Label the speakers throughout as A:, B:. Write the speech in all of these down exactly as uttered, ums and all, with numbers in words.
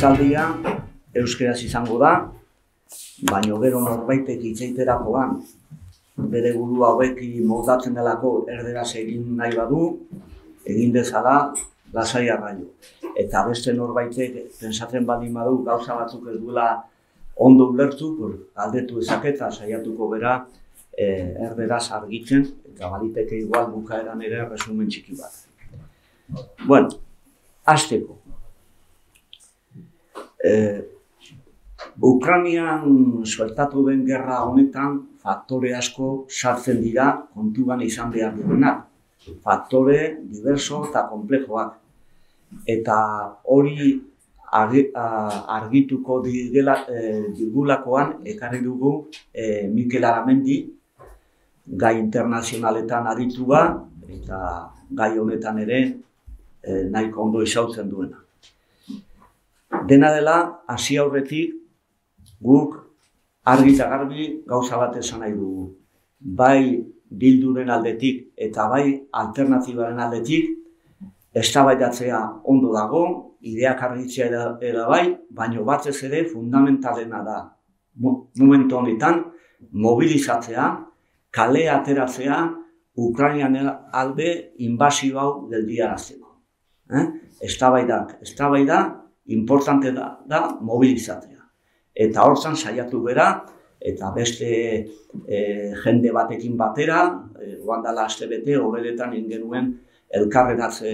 A: Hitzaldia euskeraz izango da, baina gero norbaitek hitz egiterakoan bere burua hobeki moldatzen delako erderaz egin nahi badu, egin dezala lasai arraio. Eta beste norbaitek pentsatzen baldin badu gauza batzuk ez duela ondo ulertu, galdetu ezaketa saiatuko bera erderaz argitzen, eta baliteke igual bukaeran ere resumen txiki bat. Bueno, hasteko. Ukrainian sueltatu den gerra honetan faktore asko sartzen dira kontuan izan behar duenak. Faktore diverso eta komplexoak. Eta hori argituko digulakoan ekarri dugu Mikel Aramendi, gai internazionaletan aritua eta gai honetan ere nahiko ondo izautzen duena. Dena dela, hasi aurretik, guk argi eta garbi gauza bat esan nahi dugu. Bai Bilduren aldetik eta bai alternatibaren aldetik, eztabaidatzea ondo dago, ideak argitzea ere bai, baina batez ere fundamentalena da. Momentu honetan, mobilizatzea, kale ateratzea, Ukrainian alde inbasio hau geldiarazteko. Eztabaidak, eztabaida, importante da mobilizatzea. Eta hortzan saiatu bera, eta beste jende batekin batera, oan dela astebete, horretan ingenuen elkarreratze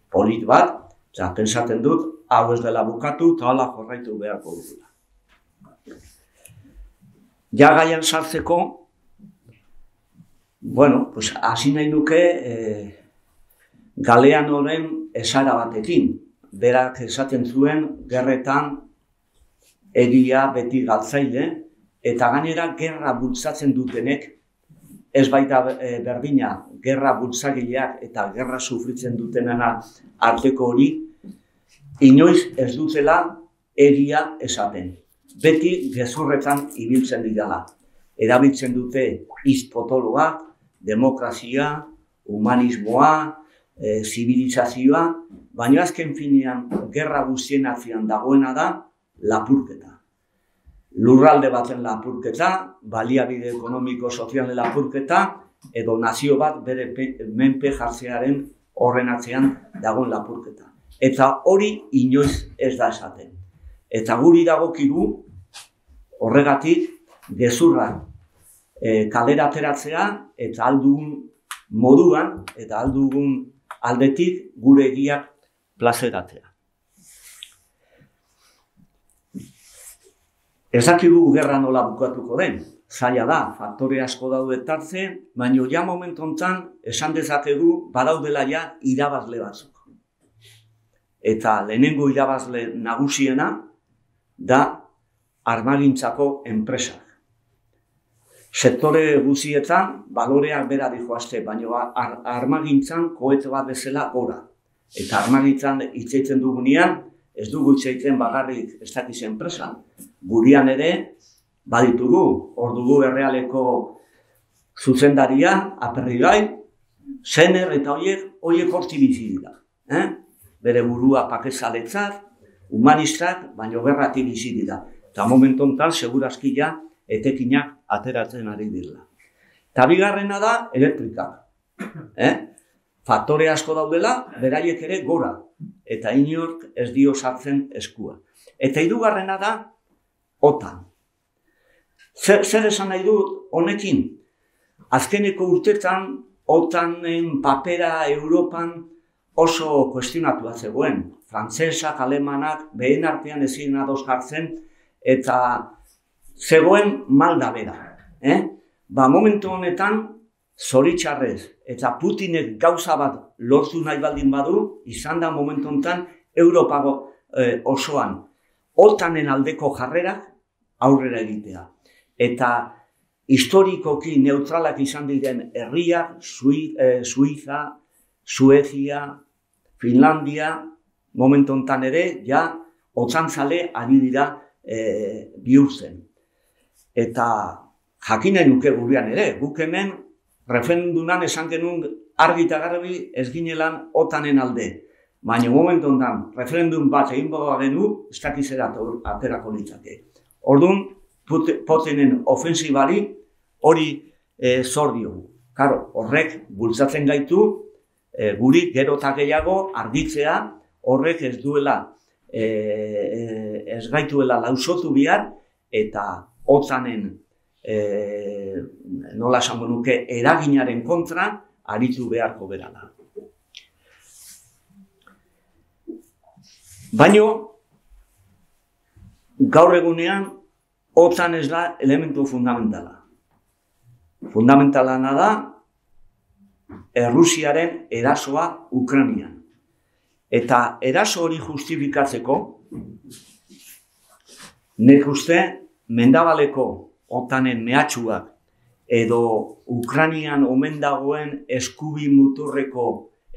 A: polit bat, eta pensaten dut, hau ez dela bukatu, eta hala jorraitu beharko dugula. Ja gaian sartzeko, bueno, pues hasi nahi nuke Galeanoren esara batekin. Berak esaten zuen gerretan egia beti galtzaile, eta gainera gerra bultzatzen dutenek, ez baita berdina, gerra bultzagileak eta gerra sufritzen dutenena arteko hori, inoiz ez dutela egia esaten. Beti gezurretan ibiltzen dira. Erabiltzen dute hitz potoloak, demokrazia, humanismoa, zibilizazioa, baina azken finean gerra guztien atzean dagoena da lapurketa. Lurralde baten lapurketa, baliabide ekonomiko sozialen lapurketa, edo nazio bat bere menpe jartzearen horren atzean dagoen lapurketa. Eta hori inoiz ez da esaten. Eta guri dagokigu horregatik gezurra kalera ateratzea eta aldugun moduan eta aldugun aldetik gure egiak plazeratzea. Ez dakigu gerra nola bukatuko den, zaila da, faktore asko daude tartze, baina ja momentu honetan esan dezakegu badaudela ja irabazle batzuk. Eta lehenengo irabazle nagusiena da armagintzako enpresak. Sektore guztietan baloreak bera dijoazte, baina armagintzan kohete bat bezala gora. Eta armagintzan hitz dugunean, ez dugu hitz egiten bakarrik ez dakiz enpresa. Gurian ere, baditugu, hor dugu errealeko zuzendaria, Aperribai, Sener eta horiek, horiek horti bizi dira. Bere burua pakezaletzat, humanistak, baina gerrati bizi dira. Eta momentu honetan, segurazki ja, etekinak ateratzen ari dira. Eta bigarrena da, elektrikak. Faktore asko daudela, beraiek ere gora. Eta inork ez dio sartzen eskua. Eta hirugarrena da, OTAN. Zer esan nahi dut honekin? Azkeneko urtetan, OTANen papera Europan oso kuestionatua zegoen. Frantsesak, alemanak, behen artean ezin ados jartzen, eta zegoen malda bera. Ba, momentu honetan, zoritxarrez, eta Putinek gauza bat lortu nahi baldin badu, izan da momentu honetan, Europako osoan, OTANen aldeko jarrerak aurrera egitea. Eta historikoki neutralak izan diren herriak, Suiza, Suezia, Finlandia, momentu honetan ere, ja, otzantzale ari dira bihurtzen. Eta jakin nahi nuke gurean ere, guk hemen referenduman esan genuen argi eta garbi ez ginelan OTANen alde. baina momentu ondan referendum bat egin boga genu, ez dakizera aterako litzake. Orduan, Putinen ofensibari hori e, zor diogu. Karo, horrek bultzatzen gaitu, e, guri gero eta gehiago argitzea, horrek ez duela, e, ez gaituela lausotu bihar, eta otzanen, e, nola esango nuke, eraginaren kontra aritu beharko berala. Baina, gaur egunean, otzan ez da elementu fundamentala. Fundamentalana da Errusiaren erasoa Ukrainian. Eta eraso hori justifikatzeko, nek uste mendabaleko otanen mehatxuak edo Ukrainian omen dagoen eskubi muturreko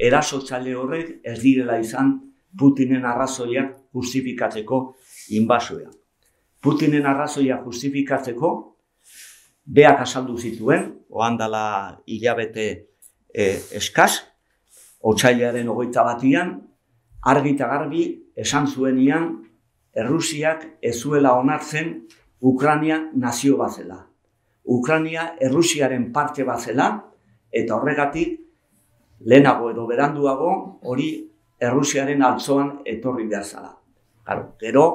A: erasotzaile horrek ez direla izan Putinen arrazoiak justifikatzeko inbasioa. Putinen arrazoia justifikatzeko, beak azaldu zituen, ohandala hilabete e, eskaz, otsailaren hogeita batian, argi eta garbi esan zuenian, Errusiak ez zuela onartzen Ukraina nazio bat zela. Ukraina Errusiaren parte bat zela, eta horregatik, lehenago edo beranduago, hori Errusiaren altzoan etorri behar zela. Claro, gero,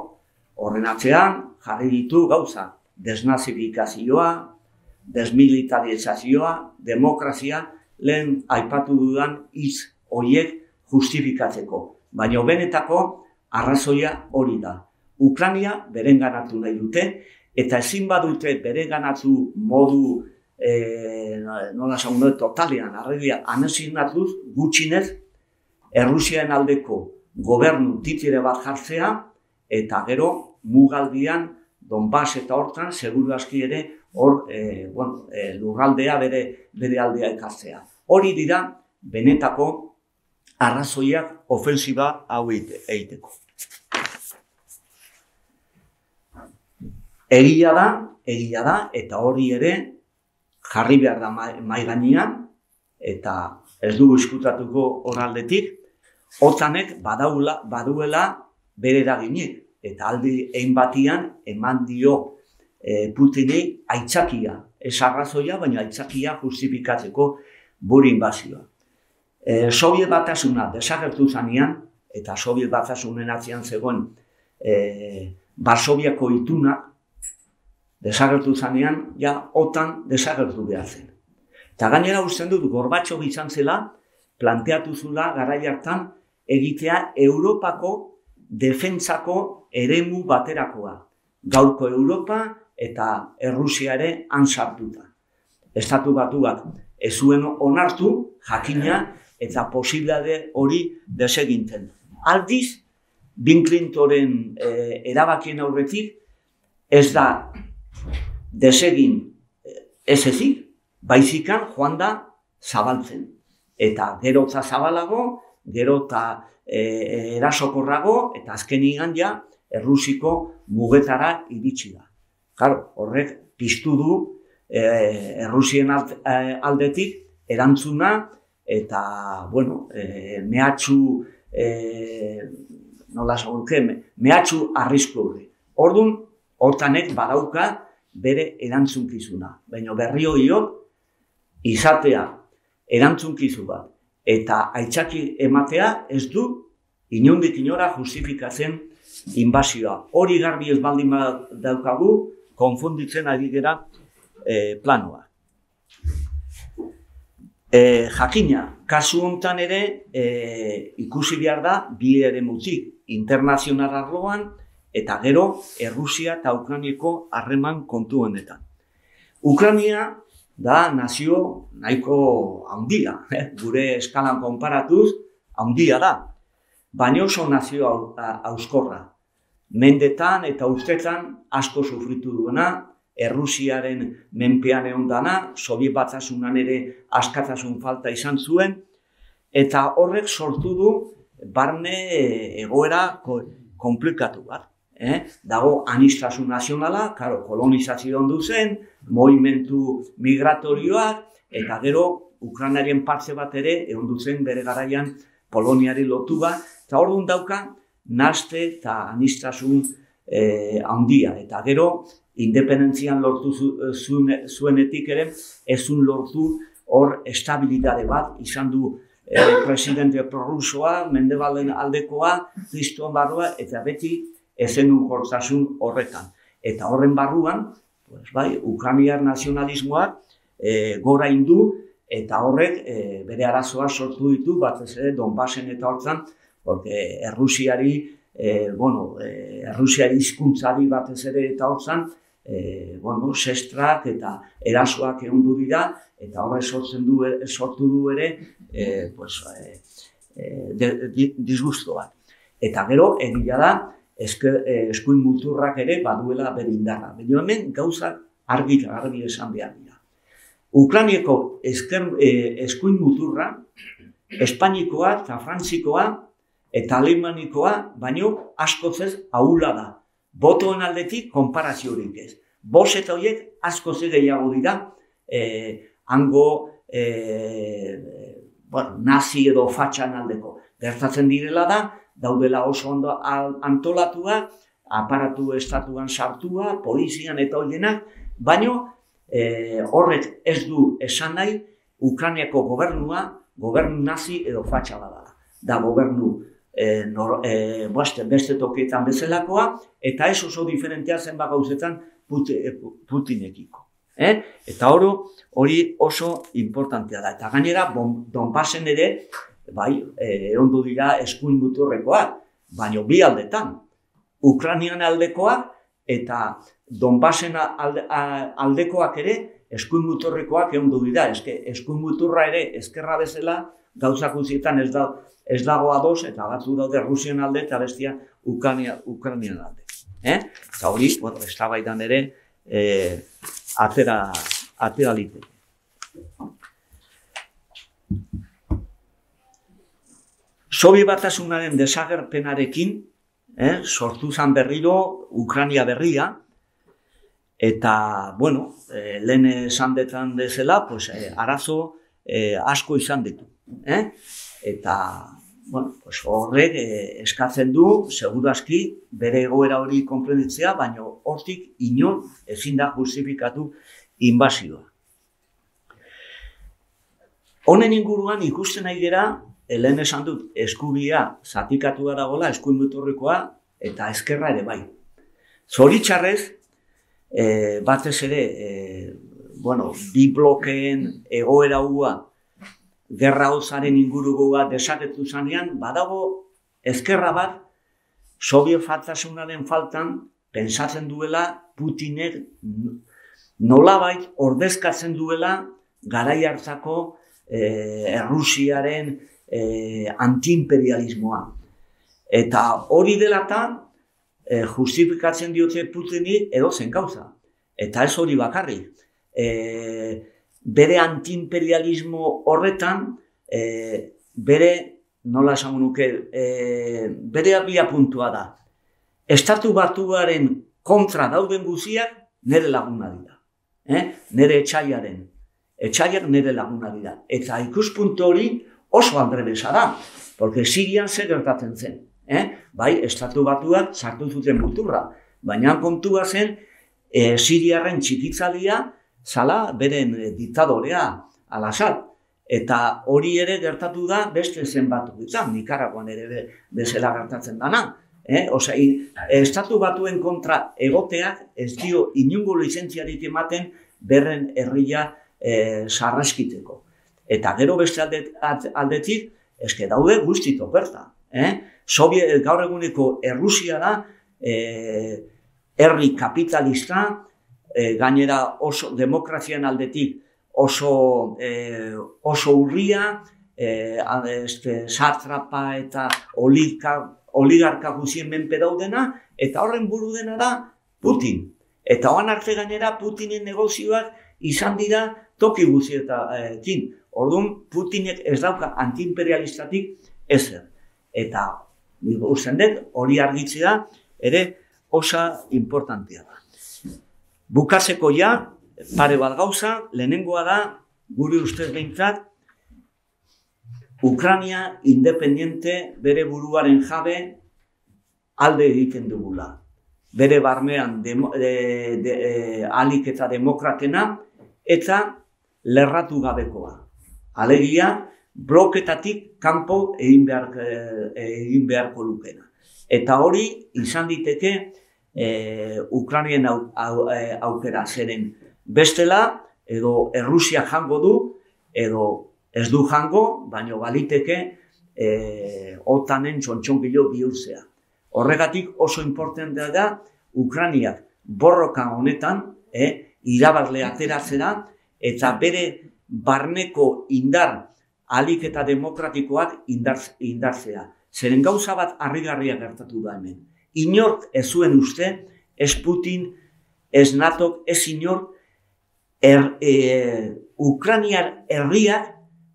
A: horren atzean, jarri ditu gauza, desnazifikazioa, desmilitarizazioa, demokrazia, lehen aipatu dudan hitz horiek justifikatzeko. Baina benetako arrazoia hori da. Ukraina berenganatu nahi dute, eta ezin badute berenganatu modu, e, nola esan dut, totalean, arregia, anesinatuz gutxinez, Errusiaren aldeko gobernu titire bat jartzea, eta gero mugaldian, Donbass eta hortan, seguru aski ere, hor, e, bueno, e, lurraldea bere, bere aldea ekartzea. Hori dira, benetako arrazoiak ofensiba hau egiteko. Egia da, egia da, eta hori ere jarri behar da mai gainean, eta ez dugu izkutatuko horaldetik, otzanek badaula, baduela bere eraginik. Eta aldi egin batian eman dio e, Putinei aitzakia, ez arrazoia, baina aitzakia justifikatzeko buru inbazioa. E, Sobiet Batasuna desagertu zanean, eta Sobiet Batasunen atzean zegoen e, Varsoviako ituna desagertu zanean, ja, otan desagertu behar zen. Eta gainera usten dut, Gorbatxov izan zela, planteatu zula garai hartan egitea Europako defentsako eremu baterakoa. Gaurko Europa eta Errusia ere han sartuta. Estatu Batuak ez zuen onartu, jakina, eta posibilitate hori desegintzen. Aldiz, Bill Clintonen e, erabakien aurretik, ez da desegin ez ezik, baizikan joan da zabaltzen. Eta gero eta zabalago, gero eta E, erasokorrago, eta azkenigan ja Errusiko mugetara iritsi da. Claro, horrek piztu du e, Errusien aldetik erantzuna eta, bueno, e, mehatxu, e, nola esango, mehatxu arrisku hori. Orduan, otanek badauka bere erantzunkizuna. Baina berri horiok izatea erantzunkizu bat eta aitzaki ematea ez du inondik inora justifikatzen inbasioa. Hori garbi ez baldin daukagu, konfunditzen ari gera e, planoa. E, jakina, kasu honetan ere e, ikusi behar da bi eremutik internazional arloan eta gero Errusia eta Ukrainako harreman kontu honetan. Ukraina da nazio nahiko handia, eh? Gure eskalan konparatuz handia da, baina oso nazio hauskorra. Mendetan eta urtetan asko sufritu duena, Errusiaren menpean egon dana, Sobiet Batasunan ere askatasun falta izan zuen, eta horrek sortu du barne egoera komplikatu bat. Eh? Dago anistasun nazionala, karo, kolonizazio ondu zen, movimentu migratorioak, eta gero Ukrainaren partze bat ere egon zen bere garaian Poloniari lotu bat, Eta orduan dauka, naste eta anistasun handia. Eta gero, independentzian lortu zuenetik ere, ezun lortu hor estabilitate bat, izan du presidente prorrusoa, Mendebalen aldekoa, kristuan barrua, eta beti ezenun gortasun horretan. Eta horren barruan, pues, bai, ukrainiar nazionalismoak e, gora indu, eta horrek e, bere arazoa sortu ditu, batez ere Donbasen eta hortzan, porque Errusiari, e, bueno, e, Errusiari hizkuntzari batez ere eta hortzan, e, bueno, sestrak eta erasoak egondu dira, eta horrek sortzen du, sortu du ere, e, pues, e, e, disgusto bat. Eta gero, egia da, eskuin muturrak ere baduela bere indarra. Baina hemen gauza argi argi esan behar dira. Ukrainiako eskuin muturra, Espainikoa eta Frantzikoa eta Alemanikoa, baino askoz ez ahula da. Botoen aldetik konparaziorik ez. Bos eta horiek askoz ez gehiago dira, hango nazi edo fatxan aldeko. Gertatzen direla da, daudela oso ondo antolatua, aparatu estatuan sartua, polizian eta horienak, baino horrek ez du esan nahi Ukrainiako gobernua, gobernu nazi edo fatxa badala. Da gobernu beste tokietan bezalakoa, eta ez oso diferentea zenba gauzetan Putinekiko. Eta hori oso importantea da. Eta gainera, Donbasen ere, bai, erondu dira eskuin muturrekoak, baina bi aldetan. Ukrainian aldekoak eta Donbasen aldekoak ere eskuin muturrekoak erondu dira. Eskuin muturra ere ezkerra bezala gauzak guztietan ez dago ados, eta batzu daude Rusian alde eta bestia Ukrainian alde. Eta hori, eztabaidan ere atera liteke. Sobiet Batasunaren desagerpenarekin sortu zen berriro Ukraina berria, eta, bueno, lehen esan detan dezela, arazo asko izan ditu. Eta, bueno, horrek eskatzen du, segurazki, bere egoera hori konprenditzea, baina hortik inor ezin da justifikatu inbasioa. Honen inguruan ikusten nahi gera, lehen esan dut, eskubia zatikatua dagoela, eskuin muturrekoa, eta ezkerra ere bai. Zoritxarrez, batez ere, bueno, bi blokeen egoera hua, gerra hozaren ingurukoa desaketu zanean, badago ezkerra bat, Sobiet Batasunaren faltan, pentsatzen duela Putinek nolabait ordezkatzen duela garai hartako Errusiaren antiimperialismoa. Eta hori delata justifikatzen diote Putini edozen gauza. Eta ez hori bakarrik. Bere antiimperialismo horretan, bere, nola esango nuke, bere abia puntua da. Estatu Batuaren kontra dauden guziak nire laguna dira. Nire etxaiaren. Etxaiak nire laguna dira. Eta ikuspuntu hori oso andrebesa da. Porque Sirian zer gertatzen zen. Bai, Estatu Batuak sartu zuten muturra. Baina kontua zen, Siriarren txikitzalia zala beren diktadorea Al-Assad. Eta hori ere gertatu da beste zenbatu ditzan, Nikaraguan ere bezala gertatzen dana. Osea, Estatu Batuen kontra egoteak ez dio inungo lizentziarik ematen berren herria sarraskiteko. Eta gero beste aldetik, eske daude guzti toperta. Gaur eguneko Errusia da, herri kapitalista, gainera oso demokrazian aldetik oso urria, satrapa eta oligarka guzien menpe daudena, eta horren buru dena da Putin. Eta hoan arte gainera Putinen negozioak izan dira toki guztiekin. Orduan, Putinek ez dauka antiimperialistatik ezer. Eta, usten dut, hori argitzea ere osa importantea da. Bukatzeko ja, pare bat gauza, lehenengoa da, gure ustez behintzat, Ukrania independiente bere buruaren jabe alde egiten dugula. Bere barnean demo, de, de, de, alik eta demokratena eta lerratu gabekoa. Alegia, bloketatik kanpo egin, behar, egin beharko lukena. Eta hori izan diteke e, Ukrainien au, au, aukera zeren bestela edo Errusia jango du edo ez du jango, baina baliteke e, otanen txontxongilo bihurtzea. Horregatik oso importantea da Ukrainiak borroka honetan e, irabazle ateratzera eta bere barneko indar ahalik eta demokratikoak indartzea. Zeren gauza bat harrigarria gertatu da hemen. Inork ez zuen uste, ez Putin, ez natok, ez inork, er, e, Ukrainiar herriak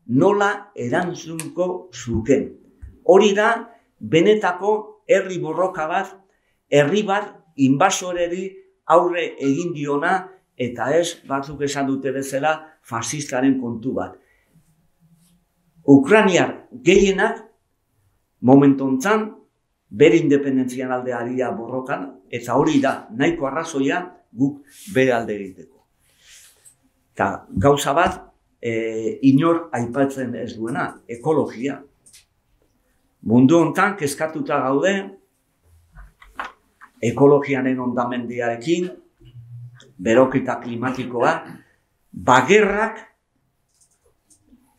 A: nola erantzunko zuken. Hori da, benetako herri borroka bat, herri bat inbasoreri aurre egin diona, eta ez, batzuk esan dute bezala, fasistaren kontu bat. Ukrainiar gehienak, momentu hontan, bere independentzian alde aria borrokan, eta hori da, nahiko arrazoia guk bere alde egiteko. Eta gauza bat, e, inor aipatzen ez duena, ekologia. Mundu hontan kezkatuta gaude, ekologianen hondamendiarekin, beroketa klimatikoa, bagerrak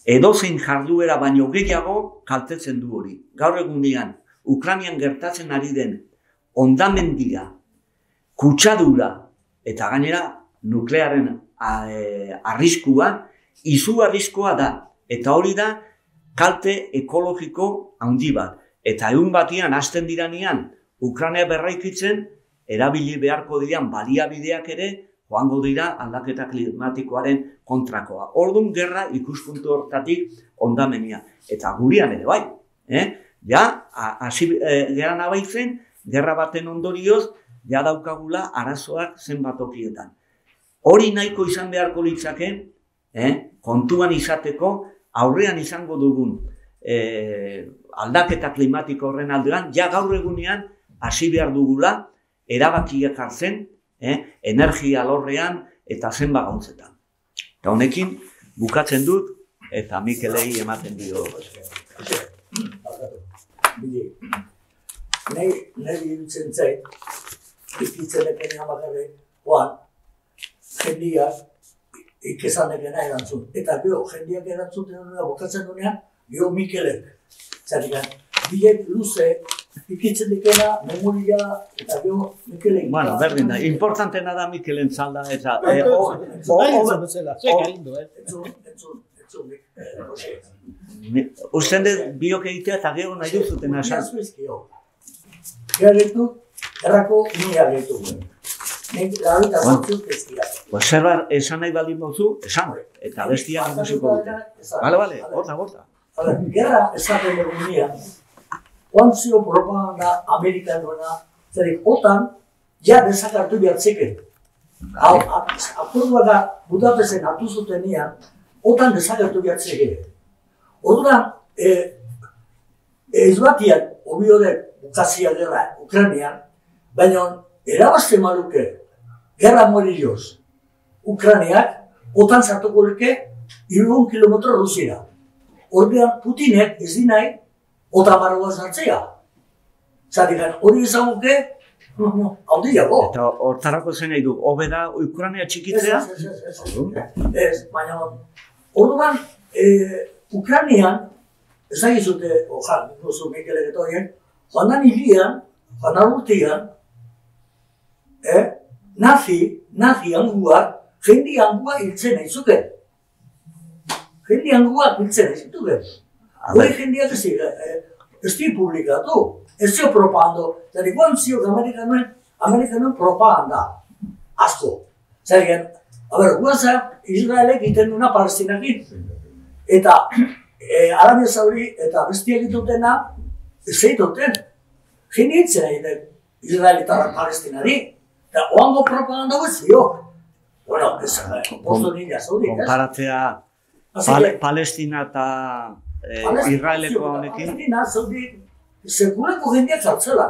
A: edozein jarduera baino gehiago kaltetzen du hori. Gaur egunean, Ukrainian gertatzen ari den hondamendia, kutsadura eta gainera nuklearen arriskua, izu arriskua da. Eta hori da kalte ekologiko handi bat. Eta egun batian hasten diranean Ukraina berraikitzen, erabili beharko diran baliabideak ere joango dira aldaketa klimatikoaren kontrakoa. Orduan gerra ikuspuntu hortatik hondamenia. Eta gurian ere bai. Eh? Ja, hasi eh, gera nabaitzen, gerra baten ondorioz, ja daukagula arazoak zenbat tokietan. Hori nahiko izan beharko litzake, eh? kontuan izateko, aurrean izango dugun eh, aldaketa klimatiko horren aldean, ja gaur egunean hasi behar dugula, erabakiak hartzen, eh? energia alorrean eta zenba gautzetan. Eta honekin, bukatzen dut, eta Mikelei ematen dio.
B: Nahi irutzen zait, ikitzen ekene amagarre, oan, jendiak ikesan ekena erantzun. Eta gero, jendiak erantzuten duena, bokatzen duenean, gero Mikelek. Zerrikan, bilek luze, ikitzen ekena, memoria, eta gero Mikelek.
A: Bueno, berdin da, importantena da Mikelen zalda, eta... Usten dut biok egitea eta gero nahi duzuten asan.
B: Gara gehitu, errako nira gehitu. Nek larita zortzuk ezkia.
A: Zerbar esan nahi baldin bauzu, esan. Eta bestia musiko dute. Bale, bale, gota, gota.
B: Gerra esaten dugu nira, oantzio propaganda amerikanoena, zerik otan, ja desakartu behatzeken. Akordua da Budapesten hartu zuten nian, otan desakartu behatzeken. Orduan, ez batian, obiodek bukazia gerra Ukrainian, baina erabazte maluke, gerra morilloz, Ukrainiak, otan sartuko luke, hirurehun kilometro Rusira. Orduan, Putinek ez dinai, otan barroa sartzea. Zatikan, hori ezaguke, hau diago.
A: Eta hortarako zen nahi du, hobe da Ukraina txikitzea?
B: Ez, ez, ez, ez, baina, orduan, Ukrainian, ez da gizute, ojan, duzu Mikelek eta horien, joan da nilian, joan da urtean, nazi, nazi hanguak, jendi hanguak hiltzen nahi zuken. Jendi hanguak hiltzen nahi zituken. Hori jendiak ez ez di publikatu, ez zio propagando, zari guan zio amerikanoen, amerikanoen propaganda, asko. Zari gen, a ber, guaza, Israelek iten duna Palestinakin. Eta Arabia Saudi eta bestiak ditutena ez egituten. Jeni hitzen egiten Israelitarra Palestinari. Eta oango propaganda guezio. Bueno, ez, posto nila Saudi, ez?
A: Konparatzea Palestina eta Israeleko honekin.
B: Palestina, zeudi, sekulako jendeak zartzela.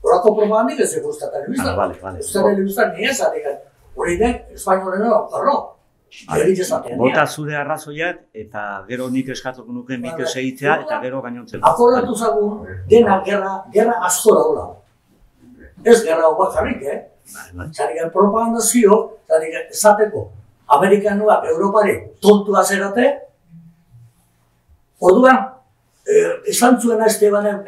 B: Horako propagandik ez ekusta telebizta.
A: Ah, vale, vale.
B: Euskal telebizta nire zaregan. Hori den, espainolena okarro.
A: Bota zure arrazoiak, eta gero nik eskatuko nuke Mikel segitzea, eta gero gainontzeko.
B: Akordatu zagun, dena gerra, gerra asko daula. Ez gerra hau bakarrik, eh? Zaregan propagandazio, zaregan esateko, Amerikanuak Europari tontua zerate, orduan, esan zuena Estebanen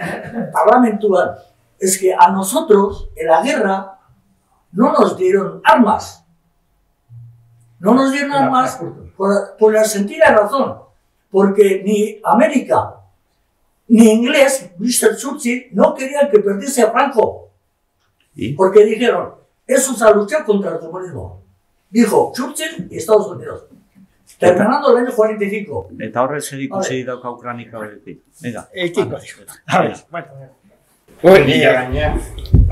B: parlamentuan, es que a nosotros, en la guerra, no nos dieron armas. No nos dieron armas por, por la sentida razón, porque ni América ni inglés, mister Churchill, no querían que perdiese a Franco. ¿Y? Porque dijeron, eso es a luchar contra el comunismo. Dijo Churchill y Estados Unidos. Terminando el año cuarenta y cinco.
A: Eta horre zer ikusi dauka Ukranika horretik. Venga.
C: Ekiko digo. A ver, bueno.
D: Guerrilla gainea.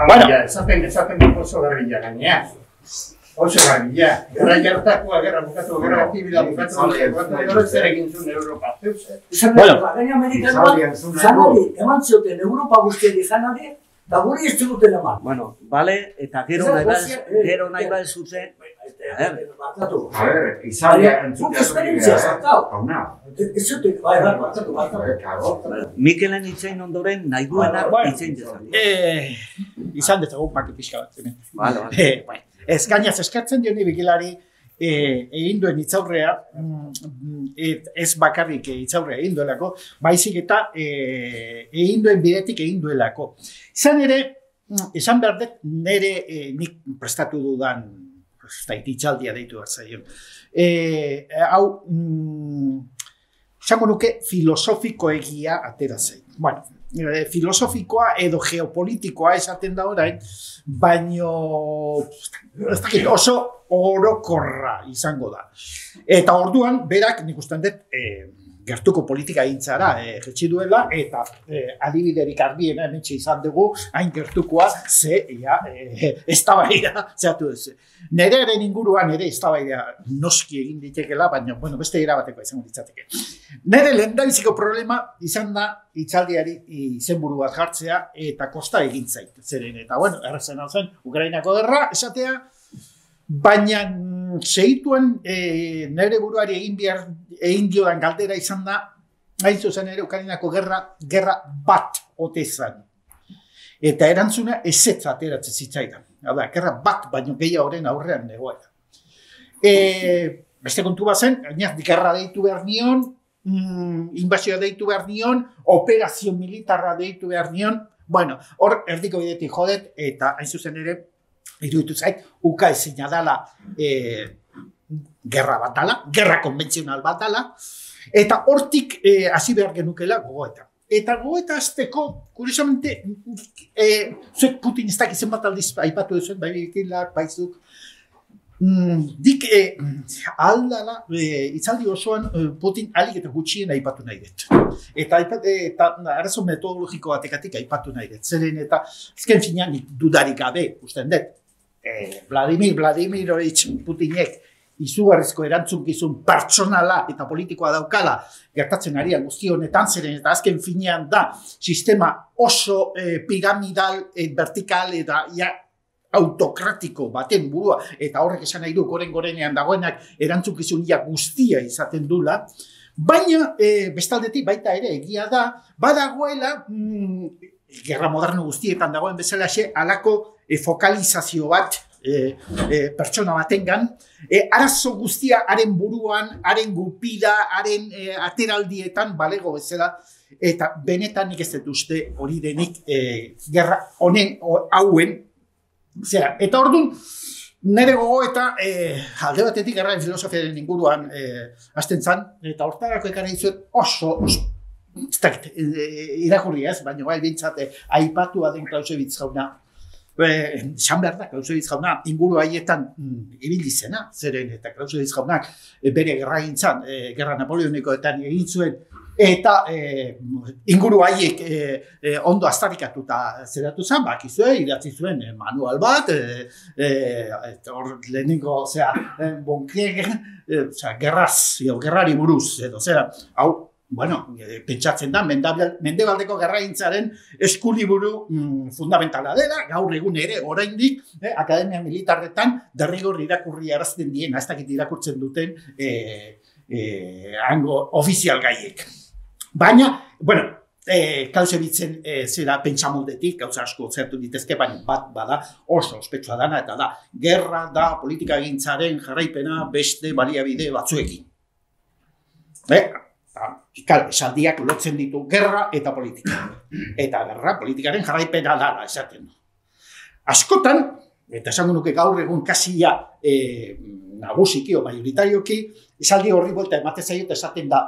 D: Bueno, esaten, esaten oso guerrilla gainea. Oso guerrilla. Gerra jartakoa, gerra bukatu, gerra zibila bukatu, bukatu, zer egin zuen Europa.
B: Bueno, gaina Amerikanoa, zanari, eman zioten Europa guztiari zanari, eta guri ez ziguten eman.
A: Bueno, bale, eta gero nahi bat, gero nahi bat zuten.
D: A ver, Italia
B: entzutea esperientzia zartau. Ez zuten, bai, bai, batzatu, batzatu.
A: Mikelen itzein ondoren nahi duena itzein dezan.
C: Izan dezagun paki pixka bat.
A: Bale, bale.
C: Ez gainaz eskatzen dioni bigilari egin duen itzaurrea, ez bakarrik itzaurrea egin duelako, baizik eta egin duen bidetik egin duelako. Izan ere, esan behar dut nire nik prestatu dudan itxaldia deitu behar zaion. Hau, esango nuke filosofiko egia atera zain. Bueno, filosofikoa edo geopolitikoa esaten da orain, baino oso orokorra izango da. Eta orduan, berak nik ustean dut gertuko politika egintzara jetxi duela, eta adibiderik argiena hementxe izan dugu, hain gertukoa, ze, ja, eztabaida, zehatu duzu. Nere eren inguruan ere eztabaida noski egin ditekela, baina, bueno, beste erabateko izango ditzateke. Nere lehendabiziko problema izan da itzaldiari izenburu bat jartzea eta kosta egin zait. Zeren, eta, bueno, errezen hau zen, Ukrainako gerra, esatea, baina segituen nire buruari egin behar egin diodan galdera izan da, hain zuzen ere Ukrainako gerra, gerra bat ote zan. Eta erantzuna ezetz ateratzen zitzaidan. Hau da, gerra bat baino gehiago horren aurrean negoela. Beste kontu bat zen, gerra deitu behar nion, inbazioa deitu behar nion, operazio militarra deitu behar nion, bueno, hor erdiko bidetik jodet, eta hain zuzen ere, iruditu zait, uka ezina dala gerra bat dala, gerra konbentzional bat dala, eta hortik hasi behar genukela gogoeta. Eta gogoeta azteko, kuriosamente, zuek Putin ez dakizen bat aldiz aipatu duzuen, bai bikilak, baizuk, dik aldala, itzaldi osoan Putin alik eta gutxien aipatu nahi dut. Eta arazo metodologiko batekatik aipatu nahi dut. Zeren eta, ezken finean dudarik gabe, usten dut, Vladimir Vladimirovich Putinek izugarrizko erantzunkizun pertsonala eta politikoa daukala gertatzen arian guzti honetan, zeren eta azken finean da sistema oso piramidal, vertikal eta ja autokratiko baten burua, eta horrek esan nahi du goren-gorenean dagoenak erantzunkizun ja guztia izaten dula, baina bestaldetik baita ere egia da, badagoela, gerra moderno guztietan dagoen bezalaxe, halako fokalizazio bat pertsona batengan, arazo guztia haren buruan, haren gupida, haren ateraldietan balego bezala, eta benetan nik ez dut uste hori denik gerra honen hauen. Eta orduan, nire gogo eta alde batetik gerraren filosofiaren inguruan hasten zan, eta hortarako ekarri dizuet oso, irakurri ez, baina bai bintzate aipatua den Clausewitz jauna, esan behar da, Clausewitz jauna inguru haietan ibili zena, zeren eta Clausewitz jaunak bere gerra gintzan, gerra napoleonikoetan egin zuen, eta inguru haiek ondo aztarikatuta zeratu zen, bakizue, idatzi zuen manual bat, hor lehenengo, osea, Bonkrieger, gerraz, gerrari buruz, edo, zera, hau, bueno, e, pentsatzen da, Mendebaldeko gerragintzaren eskuliburu mm, fundamentala dela, gaur egun ere, oraindik, eh, Akademia Militarretan derrigor irakurri arazten diena, ez dakit irakurtzen duten eh, eh, hango ofizial gaiek. Baina, bueno, eh, Clausewitzen eh, zera pentsamoldetik, gauza asko zertu ditezke, baina bat bada oso ospetsua dana, eta da, gerra da politika gintzaren jarraipena beste baliabide batzuekin. Eh? Ikal, esaldiak lotzen ditu gerra eta politika. Eta gerra politikaren jarraipena dara esaten du. Askotan, eta esango nuke gaur egun kasia e, nagusiki o majoritarioki, esaldi horri buelta ematen zaio eta esaten da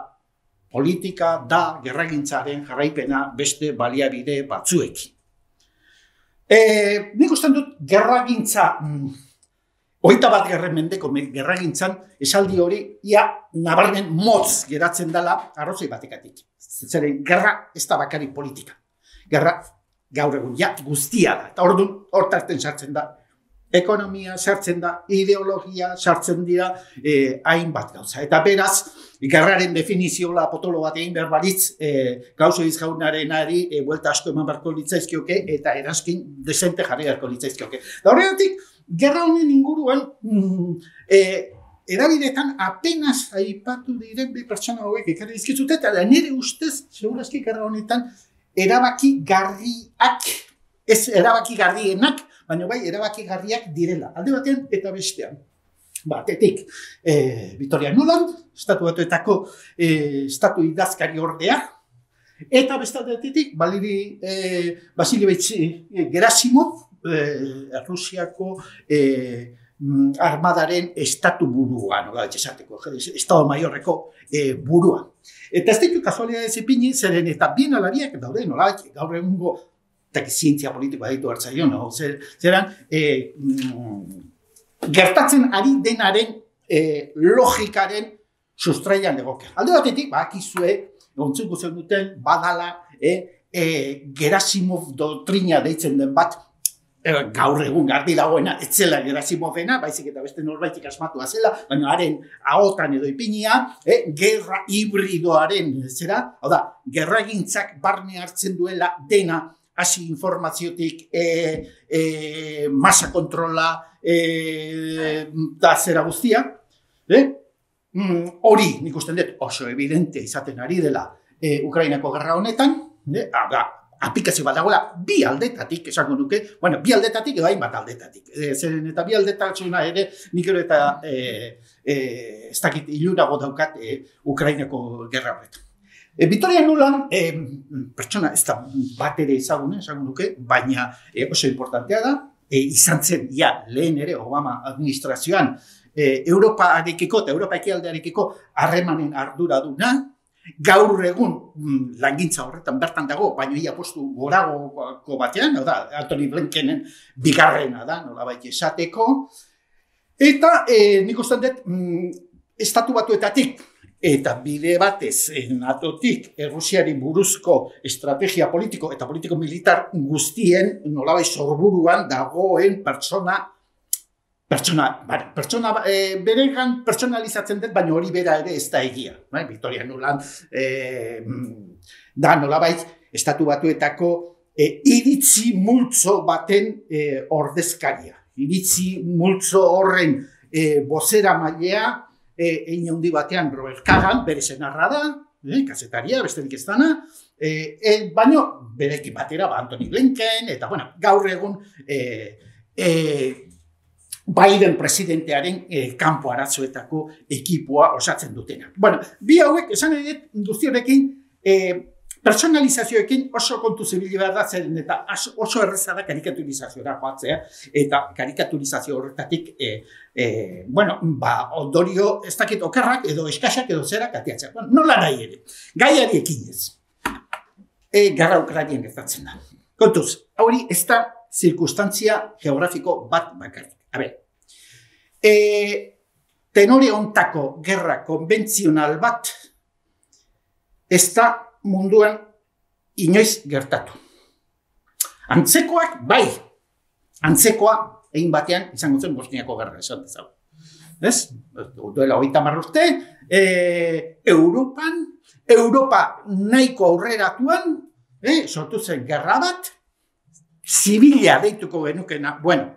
C: politika da gerragintzaren jarraipena beste baliabide batzuekin. E, nik usten dut gerragintza mm, Hogeita bat gerren mendeko gerragintzan esaldi hori ia nabarmen motz geratzen dela arrazoi batekatik. Zeren gerra ez da bakarrik politika. Gerra gaur egun ja guztia da. Eta orduan hortarten sartzen da ekonomia, sartzen da ideologia, sartzen dira eh, hainbat gauza. Eta beraz, gerraren definizioa potolo bat egin behar baritz eh, Clausewitz jaunarenari eh, buelta asko eman beharko litzaizkioke eta eraskin desente jarri beharko litzaizkioke. Da horregatik, gerra honen inguruan, mm, eh, erabidetan apenas aipatu diren bi pertsona hauek ekarri dizkizute, eta nire ustez, segurazki gerra honetan, erabaki garriak, ez erabaki garrienak, baina bai erabaki garriak direla, alde batean eta bestean. Batetik, eh, Victoria Nuland, estatu batuetako eh, estatu idazkari ordea, eta bestatetik, Valeri eh, Vasilievich eh, Gerasimov, Eh, Rusiako eh, armadaren estatu burua, nola esateko, estado maiorreko eh, burua. Eta ez ditu kasualidades ipini, zeren eta bien alariak daude, nola, gaur egungo, eta zientzia politikoa ditu hartzaio, no? Zer, zeran, eh, mm, gertatzen ari denaren eh, logikaren sustraian legoke. Alde batetik, bakizue, ontzungu zen duten, badala, eh, eh, Gerasimov doktrina deitzen den bat, gaur egun garbi dagoena, etzela Gerasimovena, baizik eta beste norbaitik asmatua zela, baina haren ahotan edo ipinia, eh, gerra hibridoaren zera, hau da, gerragintzak barne hartzen duela dena, hasi informaziotik, eh, eh, masa kontrola, eh, da zera guztia, eh? mm, hori nik usten dut oso evidente izaten ari dela eh, Ukrainako gerra honetan, eh? da, aplikazio bat dagoela bi aldetatik, esango nuke, bueno, bi aldetatik edo hainbat aldetatik. E, zeren eta bi aldetatzuna ere, nik ero eta e, e, ez dakit ilurago daukat e, Ukrainako gerra horretan. E, Victoria Nuland, e, pertsona ez da bat ere ezagune, esango nuke, baina e, oso importantea da, e, izan zen, ja, lehen ere Obama administrazioan, e, Europarekiko eta Europa ekialdearekiko harremanen arduraduna, gaur egun mm, langintza horretan bertan dago, baina ia postu goragoko batean, hau da, Antony Blinkenen bigarrena da, nolabait esateko. Eta eh, nik uste dut, mm, estatu batuetatik, eta bide batez natotik Errusiari buruzko estrategia politiko eta politiko-militar guztien nolabait sorburuan dagoen pertsona Pertsona, bera, pertsona e, beregan pertsonalizatzen dut, baina hori bera ere ez da egia. Bai? Victoria Nuland e, da nolabait estatu batuetako e, iritzi multzo baten e, ordezkaria. Iritzi multzo horren e, bozera mailea, e, egin handi batean Robert Kagan, bere senarra da, e, kazetaria, besterik ez dana, e, e, baina berekin batera, ba, Antony Blinken, eta bueno, gaur egun e, e, Biden presidentearen eh, kanpo arazoetako ekipoa osatzen dutena. Bueno, bi hauek, esan edet, guztiorekin, eh, personalizazioekin oso kontu zibili behar da zeren, eta oso erreza da karikaturizazioa joatzea, eta karikaturizazio horretatik, eh, eh, bueno, ba, ondorio ez dakit okerrak edo eskasak edo zerak atiatzea. Bueno, nola nahi ere, gaiari ekinez. E, Gerra Ukrainian gertatzen da. Kontuz, hori ez da zirkustantzia geografiko bat bakarrik. A ber, e, tenore ontako gerra konbentzional bat ez da munduan inoiz gertatu. Antzekoak, bai, antzekoa egin batean izango zen Bosniako gerra, esan dezago. Ez? Duela hogeita hamar urte, e, Europan Europa nahiko aurreratuan, eh, sortu zen gerra bat, zibila deituko genukena, bueno,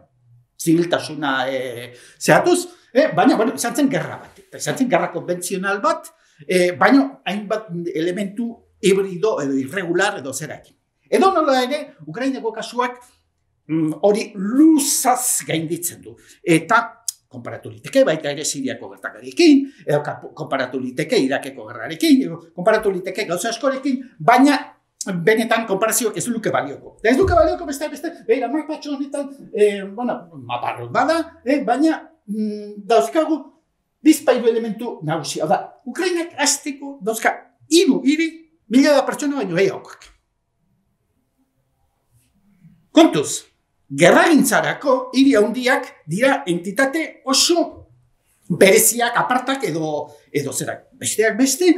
C: zibiltasuna eh, zehatuz, eh, baina, bueno, izan zen gerra bat, izan zen gerra konbentzional bat, eh, baina hainbat elementu hibrido edo irregular edo zerakin. Edo nola ere, Ukrainako kasuak hori mm, luzaz gainditzen du. Eta konparatu liteke baita ere Siriako gertakarekin, edo konparatu liteke Irakeko gerrarekin, edo konparatu liteke gauza askorekin, baina benetan konparazioak ez luke balioko. Ez luke balioko beste beste, beira, mapatxo honetan, eh, bueno, maparrot bada, eh, baina mm, dauzkagu bizpairu elementu nagusia. Da, Ukrainak hasteko dauzka hiru hiri mila da pertsona baino gehiagok. Kontuz, gerragintzarako hiri handiak dira entitate oso bereziak, apartak edo, edo zerak. Besteak beste,